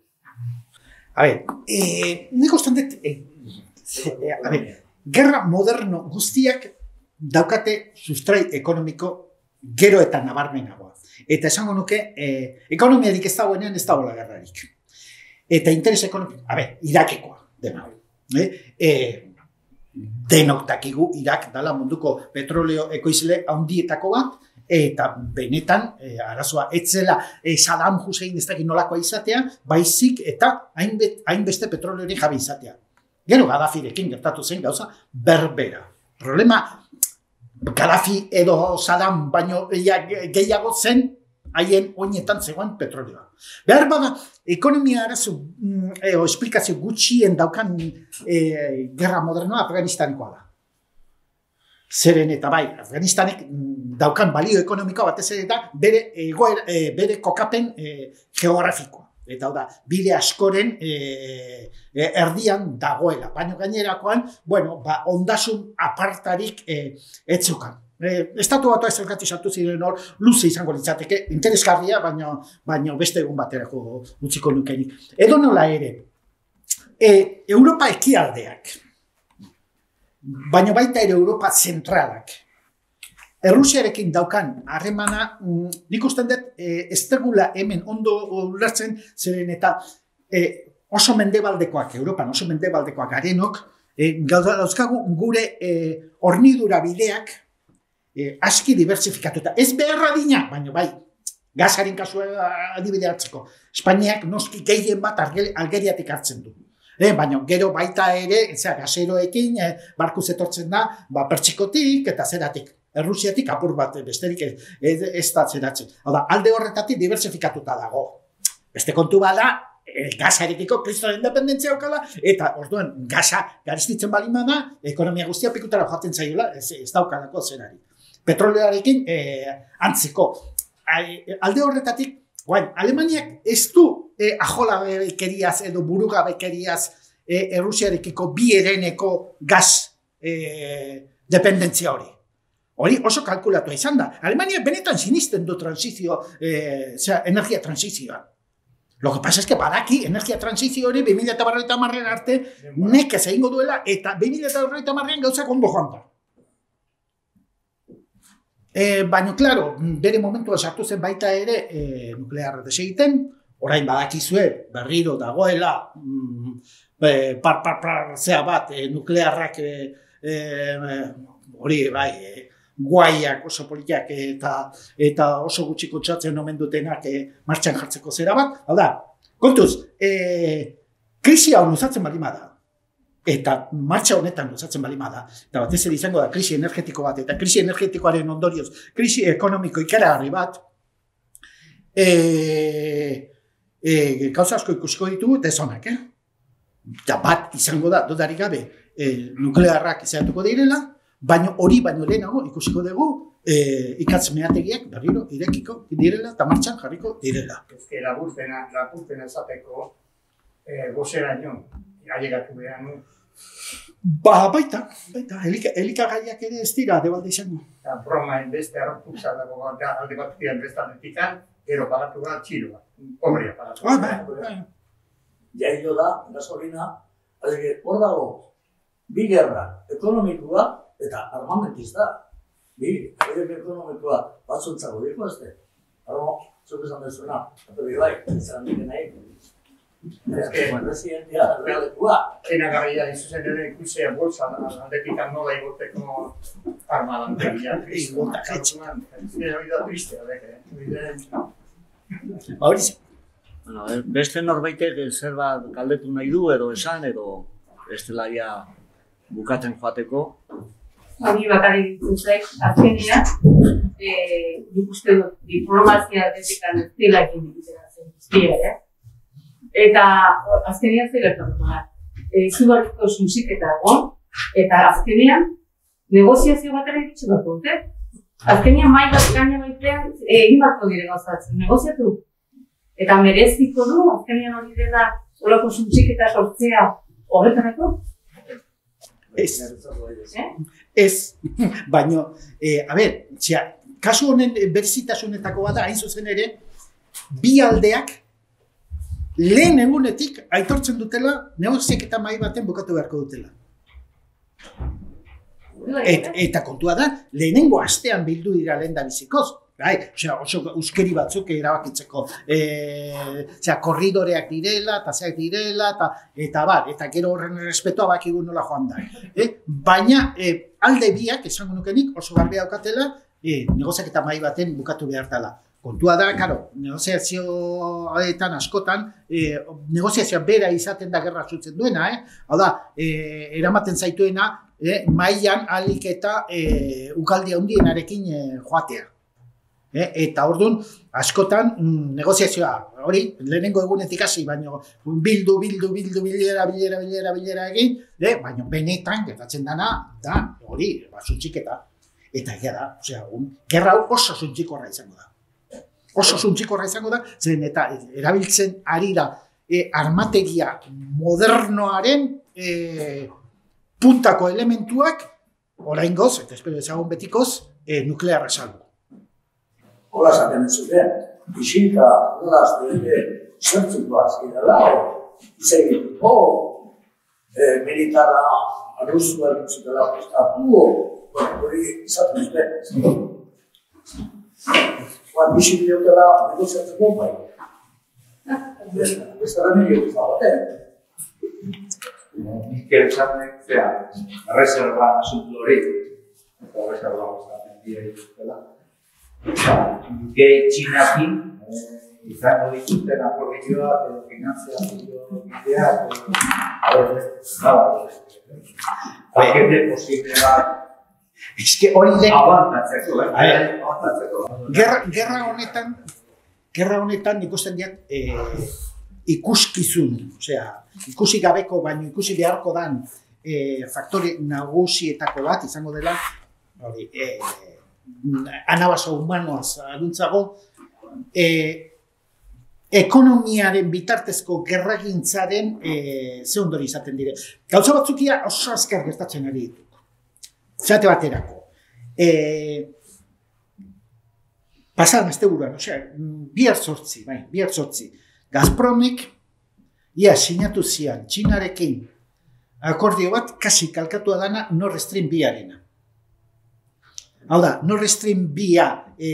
C: a ver, eh, nik uste dut, eh, eh, a ver, gerra moderno guztiak daukate sustrai ekonomiko gero eta nabarmenagoa. Eta esango nuke, eh, ekonomiarik ez dagoenean ez dagoela gerrarik. Eta interes ekonomiko, a ver, Irakekoa, dena. Eh? Eh, denok dakigu Irak dala munduko petroleo ekoizle handietako bat, eta benetan, eh, arazoa etzela eh, Saddam Hussein ez dakit nolakoa izatea, baizik eta hainbet, hainbeste petroleori jabe izatea. Gero Gaddafirekin gertatu zen gauza berbera. Problema, Gaddafi edo Saddam baino gehiago zen haien oinetan zegoen petrolioa. Behar bada, ekonomia arazo, e, o esplikazio gutxien daukan e, gerra modernoa Afganistanikoa da. Zeren eta bai, Afganistanek daukan balio ekonomikoa batez ere eta bere, egoera, e, bere kokapen e, geografikoa. Eta hau da, bide askoren e, e, erdian dagoela. Baina gainerakoan, bueno, ba, ondasun apartarik e, etzukan. E, Estatu batua ezergatik sartu ziren hor, luze izango litzateke, interesgarria, baina, baina beste egun baterako utziko nukenik. Edo nola ere, e, Europa ekialdeak, baina baita ere Europa zentralak, Errusiarekin daukan harremana, nik usten dut, e, ez tegula hemen ondo ulertzen, zeren eta e, oso mendebaldekoak, Europan oso mendebaldekoak garenok, e, dauzkagu gure e, hornidura bideak e, aski diversifikatuta. Ez beharra dina, baina bai, gazaren kasua adibide hartzeko. Espainiak noski gehien bat Algeriatik hartzen du. E, baina gero baita ere, zera, gaseroekin, e, barkuz etortzen da, ba, pertsikotik eta zeratik. Errusiatik apur bat besterik ez, ez, ez da zeratzen. Hau da, alde horretatik diversifikatuta dago. Beste kontu bada, e, gazarekiko kristoren independentzia okala, eta orduan gaza garestitzen balin bada, ekonomia guztia pikutara joaten zaiola, ez, ez daukalako zerari. Petroleoarekin e, antziko. Alde horretatik, guain, Alemaniak ez du e, ajolabekeriaz edo burugabekeriaz e, Errusiarekiko bi hereneko gaz e, dependentzia hori. Hori oso kalkulatua izan da. Alemania benetan sinisten du transizio, eh, zera, energia transizioa. Lo que pasa es que badaki energia transizio hori bi mila berrogeita hamarren arte nekez egingo duela eta bi mila berrogeita hamarrean gauzak ondo joan da. E, baina, klaro, bere momentua sartu zen baita ere e, nuklearra desegiten, orain badakizue berriro dagoela mm, e, par, par, par, zea bat, e, nuklearrak e, e, hori bai, e, guaiak oso politak eta, eta oso gutxi kutsatzen omen dutenak e, martxan jartzeko zera bat. Hau da, kontuz, e, krisi hau luzatzen balima da. Eta martxa honetan luzatzen balima da. Eta batez ere izango da krisi energetiko bat. Eta krisi energetikoaren ondorioz, krisi ekonomiko ikaragarri bat. E, e, gauza asko ikusiko ditugu, eta ezonak, eh? Eta bat izango da, dudarik gabe, e, nuklearrak izatuko direla, baina hori baino lehenago ikusiko dugu e, ikatz meategiak berriro irekiko direla eta martxan jarriko direla.
D: Ez laburpena, laburpena esateko e, gozera nion, ailegatu behar nu.
C: Ba, baita, baita, elika, elikagaiak ere ez dira debalde izango.
D: Eta bromaen beste arrokutza dago alde bat ziren bestaletikan, gero pagatu bat txiroa, homrea pagatu.
C: Ah, ba, ba.
B: Jailo da, gasolina, hor dago, bi gerra, ekonomikoa, eta armamentista, bi, horiek ekonomikoa batzuntzago diko, ez de? Armo, zuk esan dezuna, eta bi bai, izan dike nahi.
D: Ez que,
B: presidentea errealetua.
D: enagarria izuzen ere ikusia bolsa aldetik nola igoteko armadantegia.
C: Igota, jetxe.
D: Ez que hori da tristea, deke.
C: Hori
A: Bueno, beste norbaitek zerbait galdetu nahi du edo esan edo estelaria bukatzen joateko.
E: Hori bakarrik ditu zait, azkenean, nik uste dut diplomazia aldetekan ez dela egin egitera zen guztia, eh? Eta azkenean zer gertatuko da. Izugarrizko susiketa egon, eta azkenean negoziazio batera egitxe bat dute. Azkenean mai bat gaina baitean egin batko dire gauzatzen, negoziatu. Eta mereziko du, azkenean hori dela horako susiketa sortzea horretarako?
C: Ez. Ez, baina, eh, a ber, txea, kasu honen berezitasunetako bada, hain zuzen ere, bi aldeak lehen egunetik aitortzen dutela negoziaketa mahai baten bukatu beharko dutela. Et, eta kontua da, lehenengo astean bildu dira lehen da bizikoz. Bai, osea, oso euskeri batzuk erabakitzeko, eh, osea, korridoreak direla, eta zeak direla, eta, eta bar, eta gero horren errespetua bakigu nola joan da. Eh? Baina eh, alde biak, esango nukenik, oso garbi daukatela, eh, negoziaketa mahai baten bukatu behar dela. Kontua da, karo, negoziazioetan askotan, eh, negoziazioa bera izaten da gerra zutzen duena, eh? Hau da, eh, eramaten zaituena, eh, mailan alik eta eh, ukaldi handienarekin eh, joatea. Eh, eta orduan, askotan mm, negoziazioa, hori, lehenengo egunetik hasi, baina bildu, bildu, bildu, bilera, bilera, bilera, bilera egin, eh, baina benetan gertatzen dana, da, hori, ba, suntxiketa. Eta egia da, osea, un, gerra hau oso suntxikorra izango da. Oso suntxikorra izango da, zen eta erabiltzen ari da eh, armategia modernoaren eh, puntako elementuak, oraingoz, eta espero ezagun betikoz, eh, nuklearra salgo.
B: Hola esaten zuten, isilka horraz dure zertzuko azkidala, izegituko, militarra rusua dutxutela prestatu, hori izaten zuten. Oan, isil diotela negoziatzeko bai. Ez da nire guzabaten.
F: Mikel Txarnek, zera, reserva asuntu hori, eta reserva gustatzen dira dituztela. Gehi txinakin, izango dituzten akordioa, edo finanziazio bidea, edo pakete posible bat,
C: eske hori lehen,
F: abantatzeko, eh? Abantatzeko.
C: gerra, gerra honetan, gerra honetan ikusten diat eh, ikuskizun, osea, ikusi gabeko, baino ikusi beharko dan eh, faktore nagusietako bat izango dela, hori, eh, anabaso humanoaz aduntzago, eh, ekonomiaren bitartezko gerragintzaren eh, ze ondori izaten dire. Gauza batzukia oso azkar gertatzen ari ditu. Zate baterako. Eh, Pasadan asteburuan, osea, bihar zortzi, bai, bihar zortzi. Gazpromik, ia sinatu zian, Txinarekin akordio bat, kasi kalkatua dana Nord Stream biarena. Hau da, Nord Stream bia e,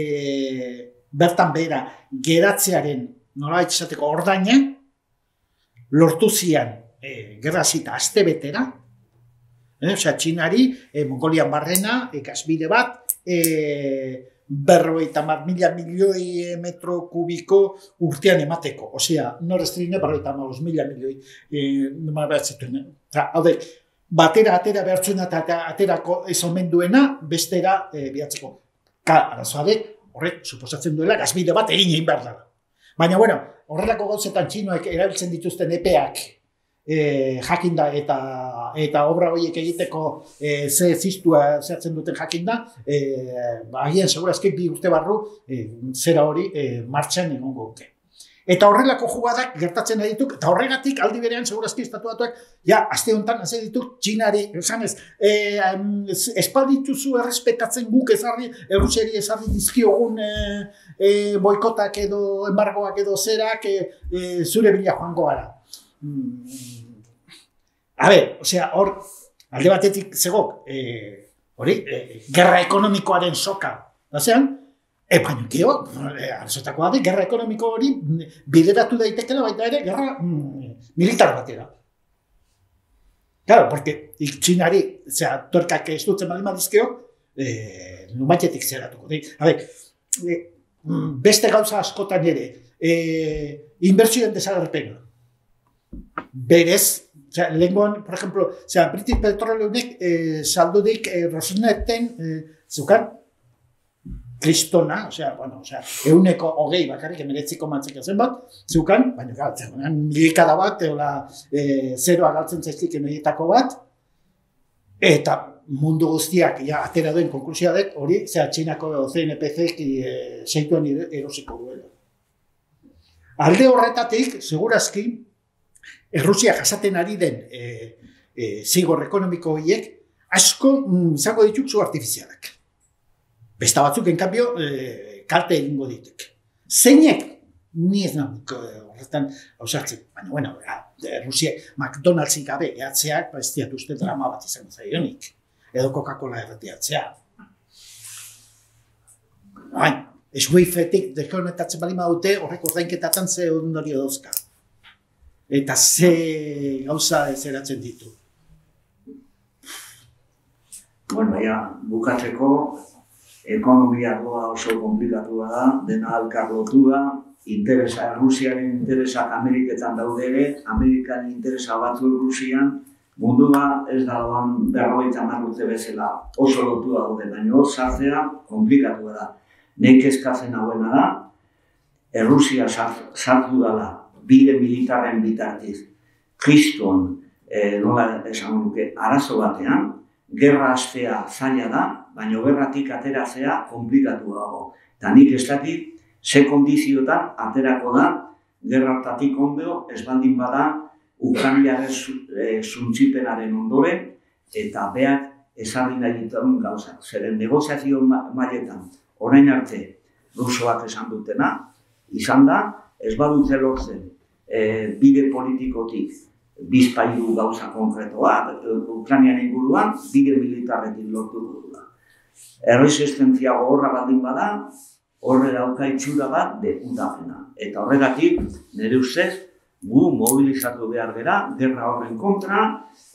C: bertan behera geratzearen nolabait esateko ordaina, lortu zian e, gerra zita aste betera, e, osea, Txinari, e, Mongolian barrena, e, gasbide bat, e, berrogeita hamar mila milioi metro kubiko urtean emateko. Osea, Nord Stream berrogeita hamabost mila milioi e, zituen. Hau da, batera atera behartzen eta aterako ez omen duena, bestera e, bihatzeko. Ka, arazoare, horrek, suposatzen duela, gazbide bat egin egin behar dela. Baina, bueno, horrelako gauzetan txinoek erabiltzen dituzten epeak e, jakinda eta eta obra horiek egiteko e, ze zistua zehatzen duten jakinda, e, agian segurazki bi urte barru e, zera hori e, martxan egongo duke. Eta horrelako jugadak gertatzen dituk, eta horregatik aldi berean segurazki estatuatuak, ja, aste honetan hasi dituk Txinari, esanez, e, espaldituzu errespetatzen guk ezarri, Errusiari ezarri dizkiogun e, e, boikotak edo embargoak edo zerak e, e, zure bila joango gara. Mm. A ber, osea, hor, alde batetik zegok, e, hori, e, gerra ekonomikoaren soka, bazean, E, baina, keo, arazotakoa da, gerra ekonomiko hori bideratu daitekela baita ere, gerra mm, militar batera. Claro, porque Txinari, zera, tuerkak ez dutzen bali madizkeo, eh, numaitetik zeratuko. A ber, eh, beste gauza askotan ere, eh, inbertsioen desagerpena. Berez, osea, lehengoan, por ejemplo, osea, British Petroleunek eh, saldudik eh, Rosnetten eh, zukan kristona, osea, bueno, osea, euneko hogei bakarrik emeretziko mantzeko zen bat, zukan, baina galtzen, milikada bat, eola eh, zeroa galtzen zaizkik emedietako bat, eta mundu guztiak ja, atera duen konklusioa dek, hori, zera, Txinako C N P C-ek e, seituen erosiko duela. Alde horretatik, segurazki, Errusia jasaten ari den e, e, zigor ekonomiko horiek asko mm, izango dituk zu artifizialak. Besta batzuk, en cambio, e, kalte egingo dituk. Zeinek, ni ez nauk horretan hausartzen, baina, bueno, Errusia McDonald'sik gabe ehatzeak, ba ez diat uste drama bat izango zaionik. Edo Coca-Cola erretiatzea. Baina, Swift-etik dekonektatzen bali madute, horrek ordainketatan ze ondorio dauzka. Eta ze gauza ezeratzen ditu.
A: Bueno, ja, bukatzeko, ekonomia arloa oso komplikatua da, dena alkarlotua, interesa, Rusiaren interesak Ameriketan daude ere, Amerikan interesa batzu Rusian, mundua ez da doan berrogeita hamar urte bezala oso lotua daude, baina hor sartzea komplikatua da. Nek eskatzen hauena da, Errusia sartu dela bide militarren bitartiz, kriston, eh, nola esan duke, arazo batean, gerra hastea zaila da, baina gerratik ateratzea komplikatu dago. Eta nik ez dakit, ze kondiziotan aterako da, gerratatik ondo, ez baldin bada, Ukrainaren zuntzipenaren ondoren, eta beak ezarri nahi dituen gauzak. Zeren negoziazio mailetan, orain arte, rusoak esan dutena, izan da, ez badute lortzen e, bide politikotik bizpailu gauza konkretoa, Ukrainian inguruan, bide militarretik lortu dugula. Erresistentzia gogorra baldin bada, horre dauka itxura bat deputapena. Eta horregatik, nire ustez, gu mobilizatu behar gera, gerra horren kontra,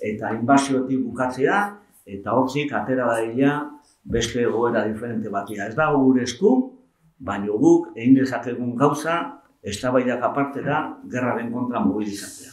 A: eta inbaziotik bukatzea, eta hortzik atera daila beste egoera diferente batia. Ez dago gure esku, baina guk egin dezakegun gauza, eztabaidak aparte da, gerraren kontra mobilizatzea.